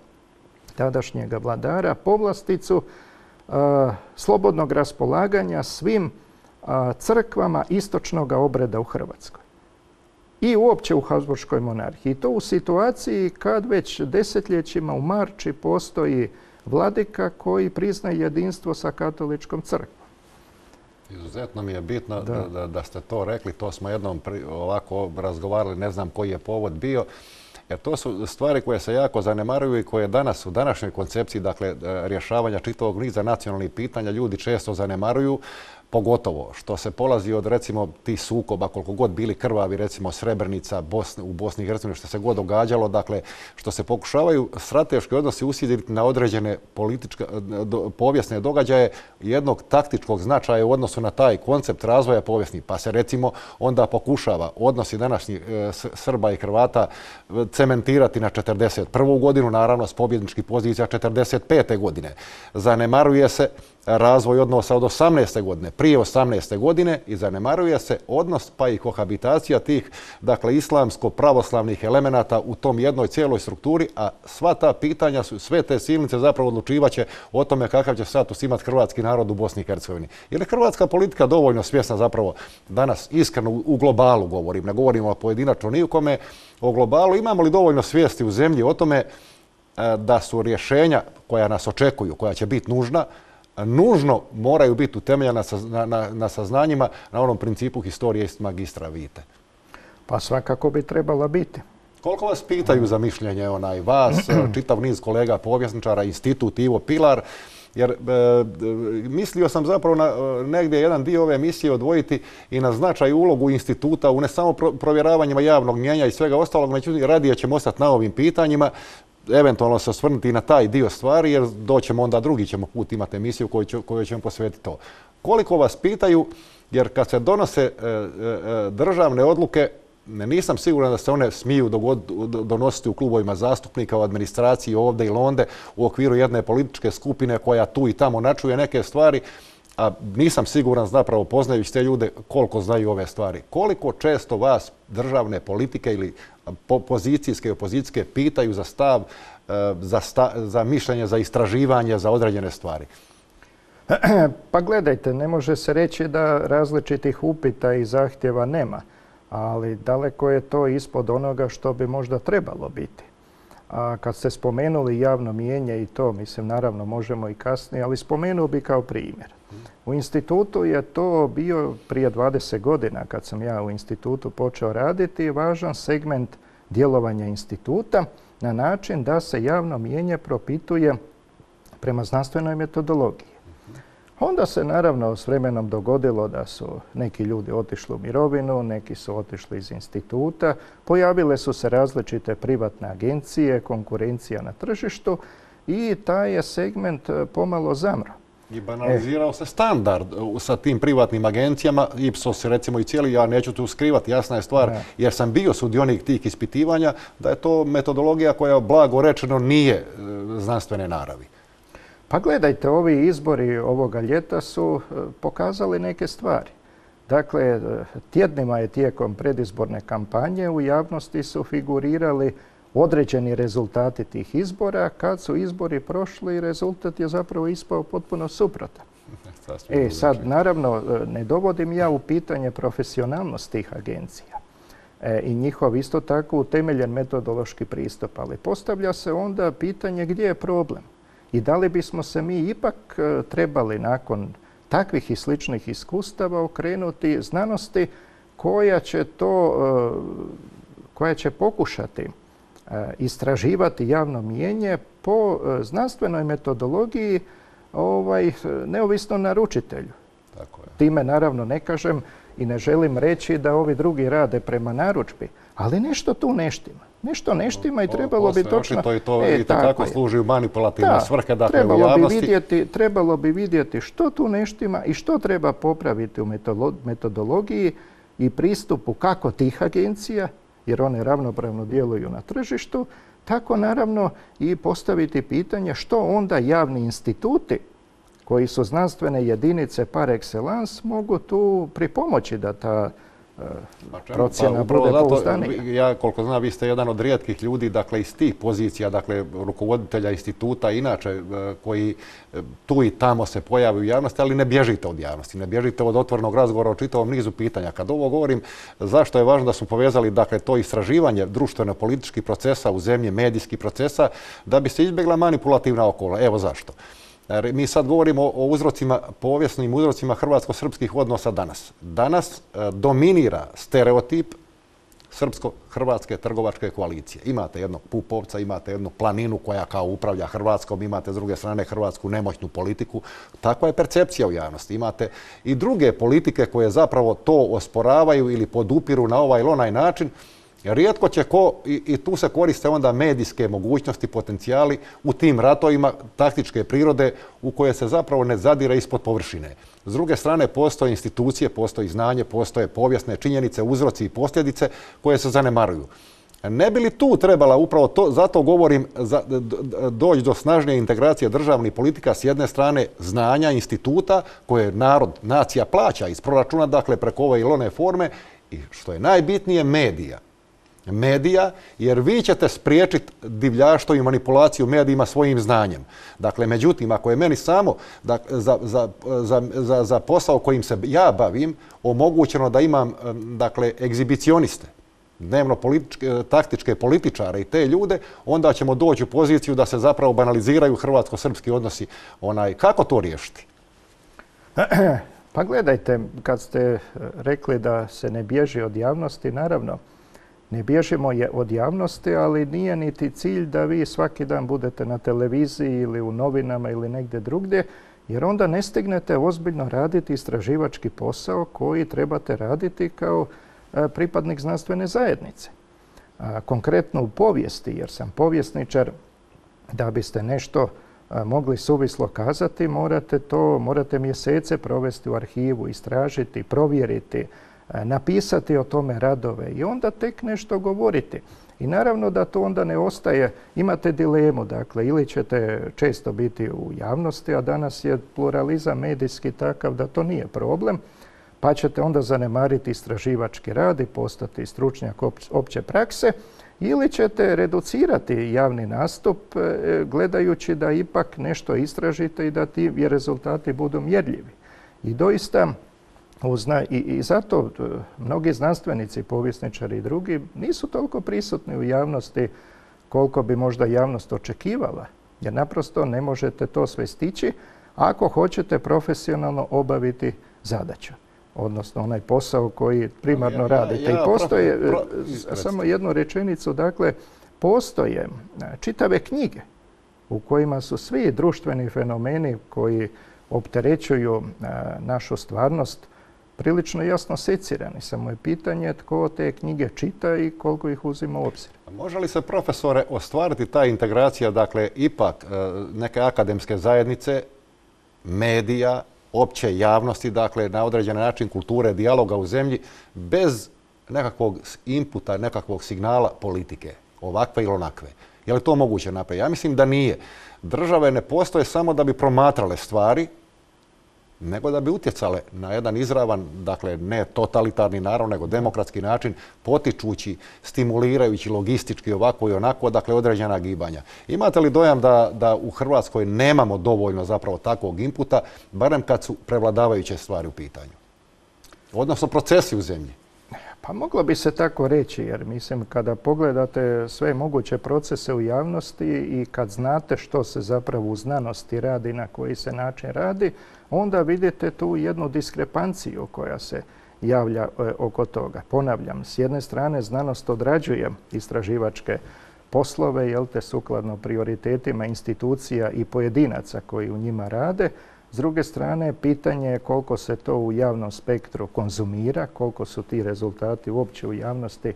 S2: tadašnjega vladara, povlasticu a, slobodnog raspolaganja svim a, crkvama istočnog obreda u Hrvatskoj i uopće u Habsburškoj monarhiji. I to u situaciji kad već desetljećima u Marči postoji vladika koji priznaje jedinstvo sa katoličkom crkvom.
S1: Izuzetno mi je bitno da, da, da ste to rekli. To smo jednom pri, ovako razgovarali, ne znam koji je povod bio. Jer to su stvari koje se jako zanemaruju i koje danas u današnjoj koncepciji, dakle, rješavanja čitavog niza nacionalnih pitanja ljudi često zanemaruju. pogotovo što se polazi od recimo tih sukoba, koliko god bili krvavi, recimo Srebrenica Bosne, u Bosni i Hercegovini, što se god događalo, dakle što se pokušavaju strateški odnosi usjediti na određene političke, do, povijesne događaje jednog taktičkog značaja u odnosu na taj koncept razvoja povijesnih. Pa se recimo onda pokušava odnosi današnjih e, Srba i Hrvata cementirati na četrdeset prvu godinu, naravno s pobjedničkih pozicija četrdeset pete godine. Zanemaruje se razvoj odnosa od osamnaeste godine, prije osamnaeste godine i zanemaruje se odnos pa i kohabitacija tih, dakle, islamsko-pravoslavnih elemenata u tom jednoj cijeloj strukturi, a sva ta pitanja su, sve te silnice zapravo odlučivaće o tome kakav će status imati hrvatski narod u Bosni i Hercegovini. Je li hrvatska politika dovoljno svjesna zapravo danas, iskreno u globalu govorim, ne govorimo o pojedinačno ni u kome, o globalu, imamo li dovoljno svijesti u zemlji o tome da su rješenja koja nas očekuju, koja će biti nužna, nužno moraju biti utemeljena na, na, na saznanjima na onom principu historije iz magistra vitae?
S2: Pa svakako bi trebala biti.
S1: Koliko vas pitaju za mišljenje onaj vas, čitav niz kolega povjesničara, institut Ivo Pilar, jer e, mislio sam zapravo na negdje jedan dio ove emisije odvojiti i na značaj i ulogu instituta u ne samo pro, provjeravanjima javnog mnijenja i svega ostalog, međutim radije ćemo ostati na ovim pitanjima, eventualno se osvrnuti na taj dio stvari, jer doćemo onda drugi ćemo put imati emisiju koju, će, koju ćemo posvetiti to. Koliko vas pitaju, jer kad se donose e, e, državne odluke, ne, nisam siguran da se one smiju dogod, donositi u klubovima zastupnika, u administraciji ovdje ili onde, u okviru jedne političke skupine koja tu i tamo načuje neke stvari, a nisam siguran zapravo poznajući te ljude koliko znaju ove stvari. Koliko često vas državne politike ili pozicijske i opozicijske pitaju za stav, za, sta, za mišljenje, za istraživanje, za određene stvari?
S2: Pa gledajte, ne može se reći da različitih upita i zahtjeva nema, ali daleko je to ispod onoga što bi možda trebalo biti. A kad ste spomenuli javno mijenje i to, mislim, naravno možemo i kasnije, ali spomenuo bi kao primjer. U institutu je to bio prije dvadeset godina, kad sam ja u institutu počeo raditi, važan segment djelovanja instituta na način da se javno mijenje propituje prema znanstvenoj metodologiji. Onda se naravno s vremenom dogodilo da su neki ljudi otišli u mirovinu, neki su otišli iz instituta, pojavile su se različite privatne agencije, konkurencija na tržištu i taj je segment pomalo zamro.
S1: I banalizirao e. se standard sa tim privatnim agencijama, Ipsos recimo i cijeli, ja neću tu skrivati, jasna je stvar, ne. jer sam bio sudionik tih ispitivanja, da je to metodologija koja blago rečeno nije znanstvene naravi.
S2: Pa gledajte, ovi izbori ovoga ljeta su pokazali neke stvari. Dakle, tjednima je tijekom predizborne kampanje u javnosti su figurirali određeni rezultati tih izbora. Kad su izbori prošli, rezultat je zapravo ispao potpuno suprotan. E sad, naravno, ne dovodim ja u pitanje profesionalnost tih agencija e, i njihov isto tako utemeljen metodološki pristup, ali postavlja se onda pitanje gdje je problem. I da li bismo se mi ipak trebali nakon takvih i sličnih iskustava okrenuti znanosti koja će to, koja će pokušati istraživati javno mijenje po znanstvenoj metodologiji ovaj, neovisno naručitelju.
S1: Tako je.
S2: Time naravno ne kažem i ne želim reći da ovi drugi rade prema narudžbi, ali nešto tu ne štima. Nešto ne štima i trebalo bi točno...
S1: To i to e, i tako služi u manipulativne
S2: da,
S1: svrhe, dakle
S2: trebalo
S1: u javnosti.
S2: Bi vidjeti, trebalo bi vidjeti što tu ne štima i što treba popraviti u metodologiji i pristupu kako tih agencija, jer one ravnopravno djeluju na tržištu, tako naravno i postaviti pitanje što onda javni instituti koji su znanstvene jedinice par excellence mogu tu pripomoći da ta procjena
S1: pa,
S2: bude pouzdanija.
S1: Ja, koliko znam, vi ste jedan od rijetkih ljudi, dakle, iz tih pozicija, dakle, rukovoditelja instituta, inače, koji tu i tamo se pojave u javnosti, ali ne bježite od javnosti, ne bježite od otvorenog razgovora o čitavom nizu pitanja. Kad ovo govorim, zašto je važno da smo povezali, dakle, to istraživanje društveno-političkih procesa u zemlji, medijskih procesa, da bi se izbjegla manipulativna okola. Evo zašto. Mi sad govorimo o uzrocima, povijesnim uzrocima hrvatsko-srpskih odnosa danas. Danas dominira stereotip srpsko-hrvatske trgovačke koalicije. Imate jednog Pupovca, imate jednu Planinu koja kao upravlja Hrvatskom, imate s druge strane hrvatsku nemoćnu politiku. Takva je percepcija u javnosti. Imate i druge politike koje zapravo to osporavaju ili podupiru na ovaj ili onaj način. Rijetko će ko, i, i tu se koriste onda medijske mogućnosti, potencijali u tim ratovima taktičke prirode u koje se zapravo ne zadire ispod površine. S druge strane, postoje institucije, postoji znanje, postoje povijesne činjenice, uzroci i posljedice koje se zanemaruju. Ne bi li tu trebala, upravo to, zato govorim, za, doći do snažnije integracije državnih politika s jedne strane znanja, instituta koje narod, nacija plaća iz proračuna, dakle preko ove ili one forme, i što je najbitnije, medija. Medija, jer vi ćete spriječiti divljaštvo i manipulaciju medijima svojim znanjem. Dakle, međutim, ako je meni samo da, za, za, za, za posao kojim se ja bavim omogućeno da imam, dakle, egzibicioniste, dnevno političke, taktičke političare i te ljude, onda ćemo doći u poziciju da se zapravo banaliziraju hrvatsko-srpski odnosi. Onaj, kako to riješiti?
S2: Pa gledajte, kad ste rekli da se ne bježi od javnosti, naravno, ne bježimo je od javnosti, ali nije niti cilj da vi svaki dan budete na televiziji ili u novinama ili negdje drugdje, jer onda ne stignete ozbiljno raditi istraživački posao koji trebate raditi kao pripadnik znanstvene zajednice. Konkretno u povijesti, jer sam povjesničar, da biste nešto mogli suvislo kazati, morate to, morate mjesece provesti u arhivu, istražiti, provjeriti, napisati o tome radove i onda tek nešto govoriti. I naravno da to onda ne ostaje, imate dilemu, dakle, ili ćete često biti u javnosti, a danas je pluralizam medijski takav da to nije problem, pa ćete onda zanemariti istraživački rad i postati stručnjak opće prakse, ili ćete reducirati javni nastup gledajući da ipak nešto istražite i da ti rezultati budu mjerljivi. I doista, I, I zato mnogi znanstvenici, povjesničari i drugi nisu toliko prisutni u javnosti koliko bi možda javnost očekivala, jer naprosto ne možete to sve stići ako hoćete profesionalno obaviti zadaću, odnosno onaj posao koji primarno ja, radite. Ja, ja, I postoje, pro, pro, samo jednu rečenicu, dakle, postoje čitave knjige u kojima su svi društveni fenomeni koji opterećuju našu stvarnost prilično jasno secirani. Samo je pitanje tko te knjige čita i koliko ih uzima u obzir.
S1: Može li se, profesore, ostvariti ta integracija, dakle, ipak neke akademske zajednice, medija, opće javnosti, dakle, na određen način kulture, dijaloga u zemlji, bez nekakvog inputa, nekakvog signala politike, ovakve ili onakve? Je li to moguće napraviti? Ja mislim da nije. Države ne postoje samo da bi promatrale stvari, nego da bi utjecale na jedan izravan, dakle ne totalitarni naravno, nego demokratski način, potičući, stimulirajući logistički ovako i onako, dakle određena gibanja. Imate li dojam da, da u Hrvatskoj nemamo dovoljno zapravo takvog inputa, barem kad su prevladavajuće stvari u pitanju? Odnosno procesi u zemlji?
S2: Pa moglo bi se tako reći, jer mislim kada pogledate sve moguće procese u javnosti i kad znate što se zapravo u znanosti radi, na koji se način radi, onda vidite tu jednu diskrepanciju koja se javlja oko toga. Ponavljam, s jedne strane znanost odrađuje istraživačke poslove, jel te, sukladno prioritetima institucija i pojedinaca koji u njima rade. S druge strane, pitanje je koliko se to u javnom spektru konzumira, koliko su ti rezultati uopće u javnosti e,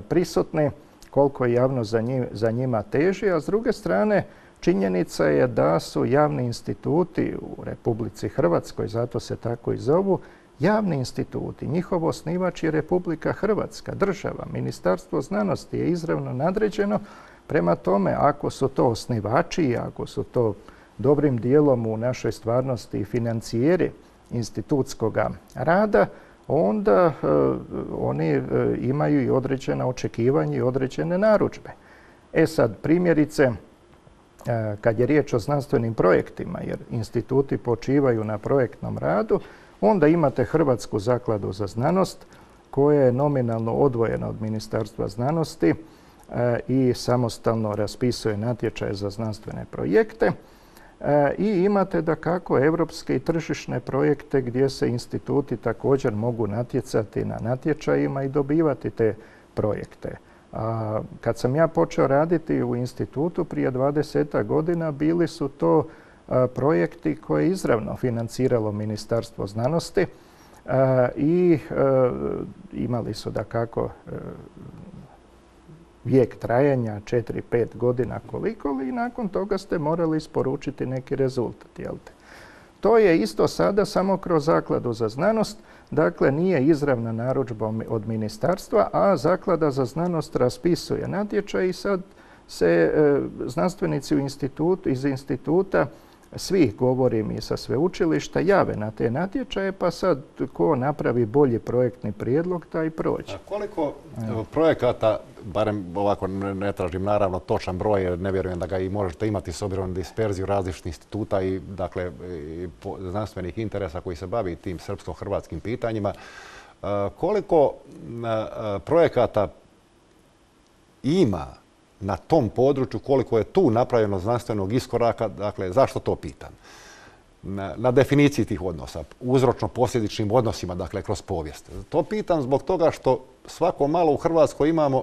S2: prisutni, koliko je javnost za, njim, za njima teži, a s druge strane, činjenica je da su javni instituti u Republici Hrvatskoj, zato se tako i zovu, javni instituti, njihov osnivač je Republika Hrvatska, država, Ministarstvo znanosti je izravno nadređeno. Prema tome, ako su to osnivači, ako su to dobrim dijelom u našoj stvarnosti financijeri institutskog rada, onda e, oni e, imaju i određena očekivanja i određene narudžbe. E sad, primjerice, e, kad je riječ o znanstvenim projektima, jer instituti počivaju na projektnom radu, onda imate Hrvatsku zakladu za znanost, koja je nominalno odvojena od Ministarstva znanosti e, i samostalno raspisuje natječaje za znanstvene projekte. I imate dakako evropske i tržišne projekte gdje se instituti također mogu natjecati na natječajima i dobivati te projekte. A kad sam ja počeo raditi u institutu prije dvadesetak godina, bili su to a, projekti koje je izravno financiralo Ministarstvo znanosti a, i a, imali su dakako a, vijek trajanja, četiri pet godina koliko, i nakon toga ste morali isporučiti neki rezultat. Jel te? To je isto sada samo kroz Zakladu za znanost, dakle nije izravna narudžba od ministarstva, a Zaklada za znanost raspisuje natječaj i sad se e, znanstvenici u institutu, iz instituta, svi, govorim i sa sveučilišta, jave na te natječaje, pa sad ko napravi bolji projektni prijedlog, taj prođe.
S1: A koliko evo, projekata, barem ovako ne, ne tražim naravno točan broj, jer ne vjerujem da ga i možete imati s obzirom na disperziju različitih instituta i, dakle, i znanstvenih interesa koji se bavi tim srpsko-hrvatskim pitanjima, a, koliko a, projekata ima na tom području, koliko je tu napravljeno znanstvenog iskoraka, dakle, zašto to pitam? Na, na definiciji tih odnosa, uzročno-posljedičnim odnosima, dakle, kroz povijest. To pitam zbog toga što svako malo u Hrvatskoj imamo,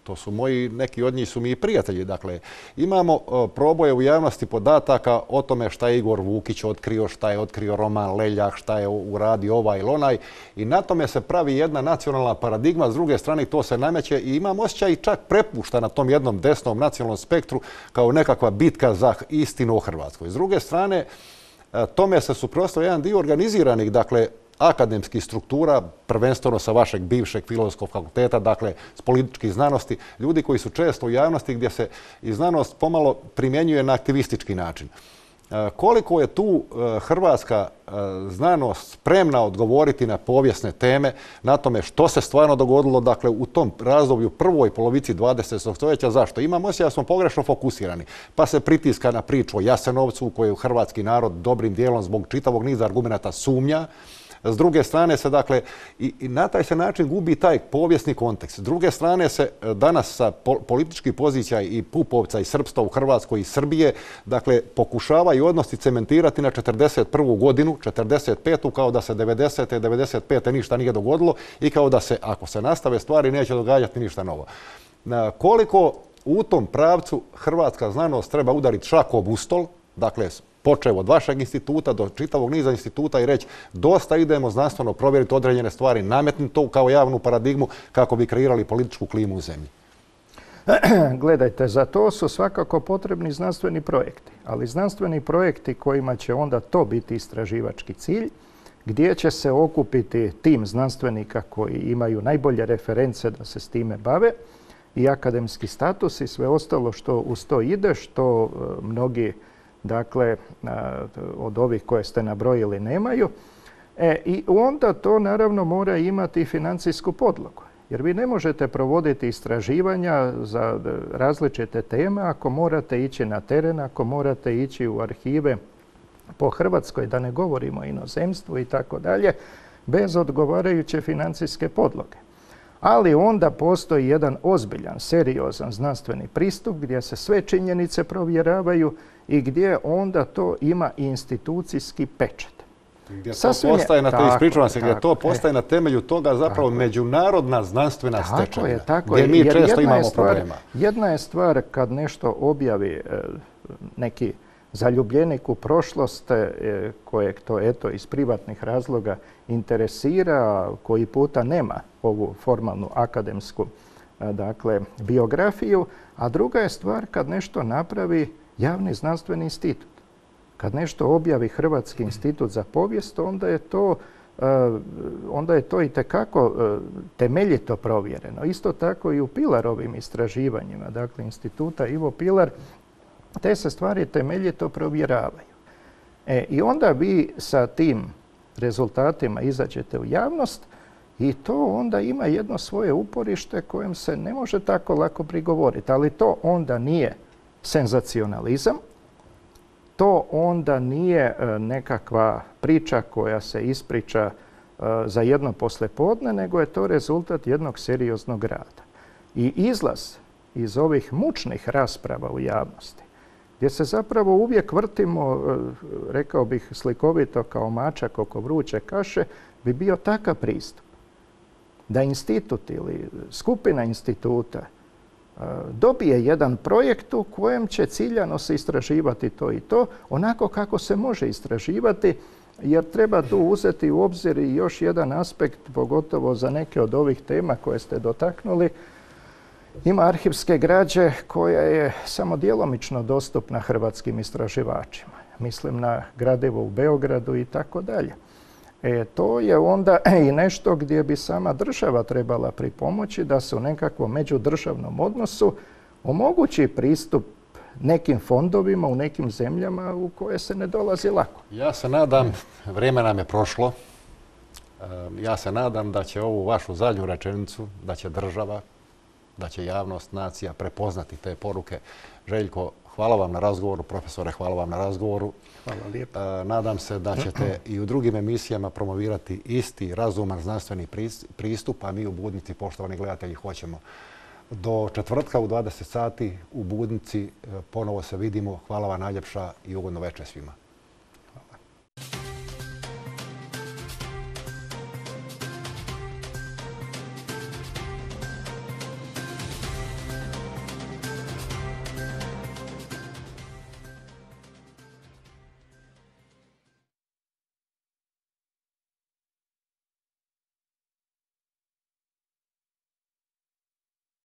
S1: to su moji, neki od njih su mi i prijatelji, dakle, imamo uh, proboje u javnosti podataka o tome šta je Igor Vukić otkrio, šta je otkrio Roman Leljak, šta je uradio ovaj ili onaj, i na tome se pravi jedna nacionalna paradigma, s druge strane to se nameće i imam osjećaj i čak prepušta na tom jednom desnom nacionalnom spektru kao nekakva bitka za istinu o Hrvatskoj. S druge strane, uh, tome se suprotstavlja jedan dio organiziranih, dakle, akademskih struktura, prvenstveno sa vašeg bivšeg filozofskog fakulteta, dakle s političkih znanosti, ljudi koji su često u javnosti gdje se i znanost pomalo primjenjuje na aktivistički način. E, koliko je tu e, hrvatska e, znanost spremna odgovoriti na povijesne teme, na tome što se stvarno dogodilo, dakle, u tom razdoblju prvoj polovici dvadesetog stoljeća, zašto? Imamo osjećaj da smo pogrešno fokusirani, pa se pritiska na priču o Jasenovcu, u koju hrvatski narod dobrim dijelom zbog čitavog niza argumenata sumnja. S druge strane se, dakle, i, i na taj se način gubi taj povijesni kontekst. S druge strane se danas sa pol, političkih pozicija i Pupovca i srpstva u Hrvatskoj i Srbije, dakle, pokušavaju odnosi cementirati na četrdeset prvu godinu, četrdeset petu kao da se devedesete. devedeset pete ništa nije dogodilo i kao da se, ako se nastave stvari, neće događati ništa novo. Na koliko u tom pravcu hrvatska znanost treba udariti šakom u stol, dakle, počev od vašeg instituta do čitavog niza instituta i reći dosta idemo znanstveno provjeriti određene stvari, nametnuti to kao javnu paradigmu kako bi kreirali političku klimu u zemlji?
S2: Gledajte, za to su svakako potrebni znanstveni projekti, ali znanstveni projekti kojima će onda to biti istraživački cilj, gdje će se okupiti tim znanstvenika koji imaju najbolje reference da se s time bave i akademski status i sve ostalo što uz to ide, što mnogi, dakle, od ovih koje ste nabrojili nemaju. E, I onda to naravno mora imati i financijsku podlogu. Jer vi ne možete provoditi istraživanja za različite teme ako morate ići na teren, ako morate ići u arhive po Hrvatskoj, da ne govorimo o inozemstvu i tako dalje, bez odgovarajuće financijske podloge. Ali onda postoji jedan ozbiljan, seriozan znanstveni pristup gdje se sve činjenice provjeravaju i gdje onda to ima institucijski pečat.
S1: Gdje to postaje, na te, ispričavam se, gdje to postaje na temelju toga zapravo tako međunarodna znanstvena stečevina, gdje mi
S2: jer
S1: često imamo
S2: stvar,
S1: problema.
S2: Jedna je stvar kad nešto objavi e, neki zaljubljenik u prošlost e, kojeg to eto iz privatnih razloga interesira, koji puta nema ovu formalnu akademsku e, dakle, biografiju, a druga je stvar kad nešto napravi javni znanstveni institut. Kad nešto objavi Hrvatski institut za povijest, onda je to, onda je to itekako temeljito provjereno. Isto tako i u Pilarovim istraživanjima, dakle instituta Ivo Pilar, te se stvari temeljito provjeravaju. E, I onda vi sa tim rezultatima izađete u javnost i to onda ima jedno svoje uporište kojem se ne može tako lako prigovoriti. Ali to onda nije senzacionalizam, to onda nije nekakva priča koja se ispriča za jedno poslijepodne, nego je to rezultat jednog serioznog rada. I izlaz iz ovih mučnih rasprava u javnosti, gdje se zapravo uvijek vrtimo, rekao bih slikovito, kao mačak oko vruće kaše, bi bio takav pristup. da institut ili skupina instituta dobije jedan projekt u kojem će ciljano se istraživati to i to, onako kako se može istraživati, jer treba tu uzeti u obzir i još jedan aspekt, pogotovo za neke od ovih tema koje ste dotaknuli. Ima arhivske građe koja je samo djelomično dostupna hrvatskim istraživačima. Mislim na gradivo u Beogradu i tako dalje. E, to je onda i nešto gdje bi sama država trebala pripomoći da se u nekakvom međudržavnom odnosu omogući pristup nekim fondovima u nekim zemljama u koje se ne dolazi lako.
S1: Ja se nadam, vrijeme nam je prošlo, ja se nadam da će ovu vašu zadnju rečenicu, da će država, da će javnost, nacija prepoznati te poruke. Željko, hvala vam na razgovoru, profesore, hvala vam na razgovoru.
S2: Hvala lijepo.
S1: Nadam se da ćete i u drugim emisijama promovirati isti razuman znanstveni pristup, a mi u Budnici, poštovani gledatelji, hoćemo. Do četvrtka u dvadeset sati u Budnici ponovo se vidimo. Hvala vam najljepša i ugodno večer svima.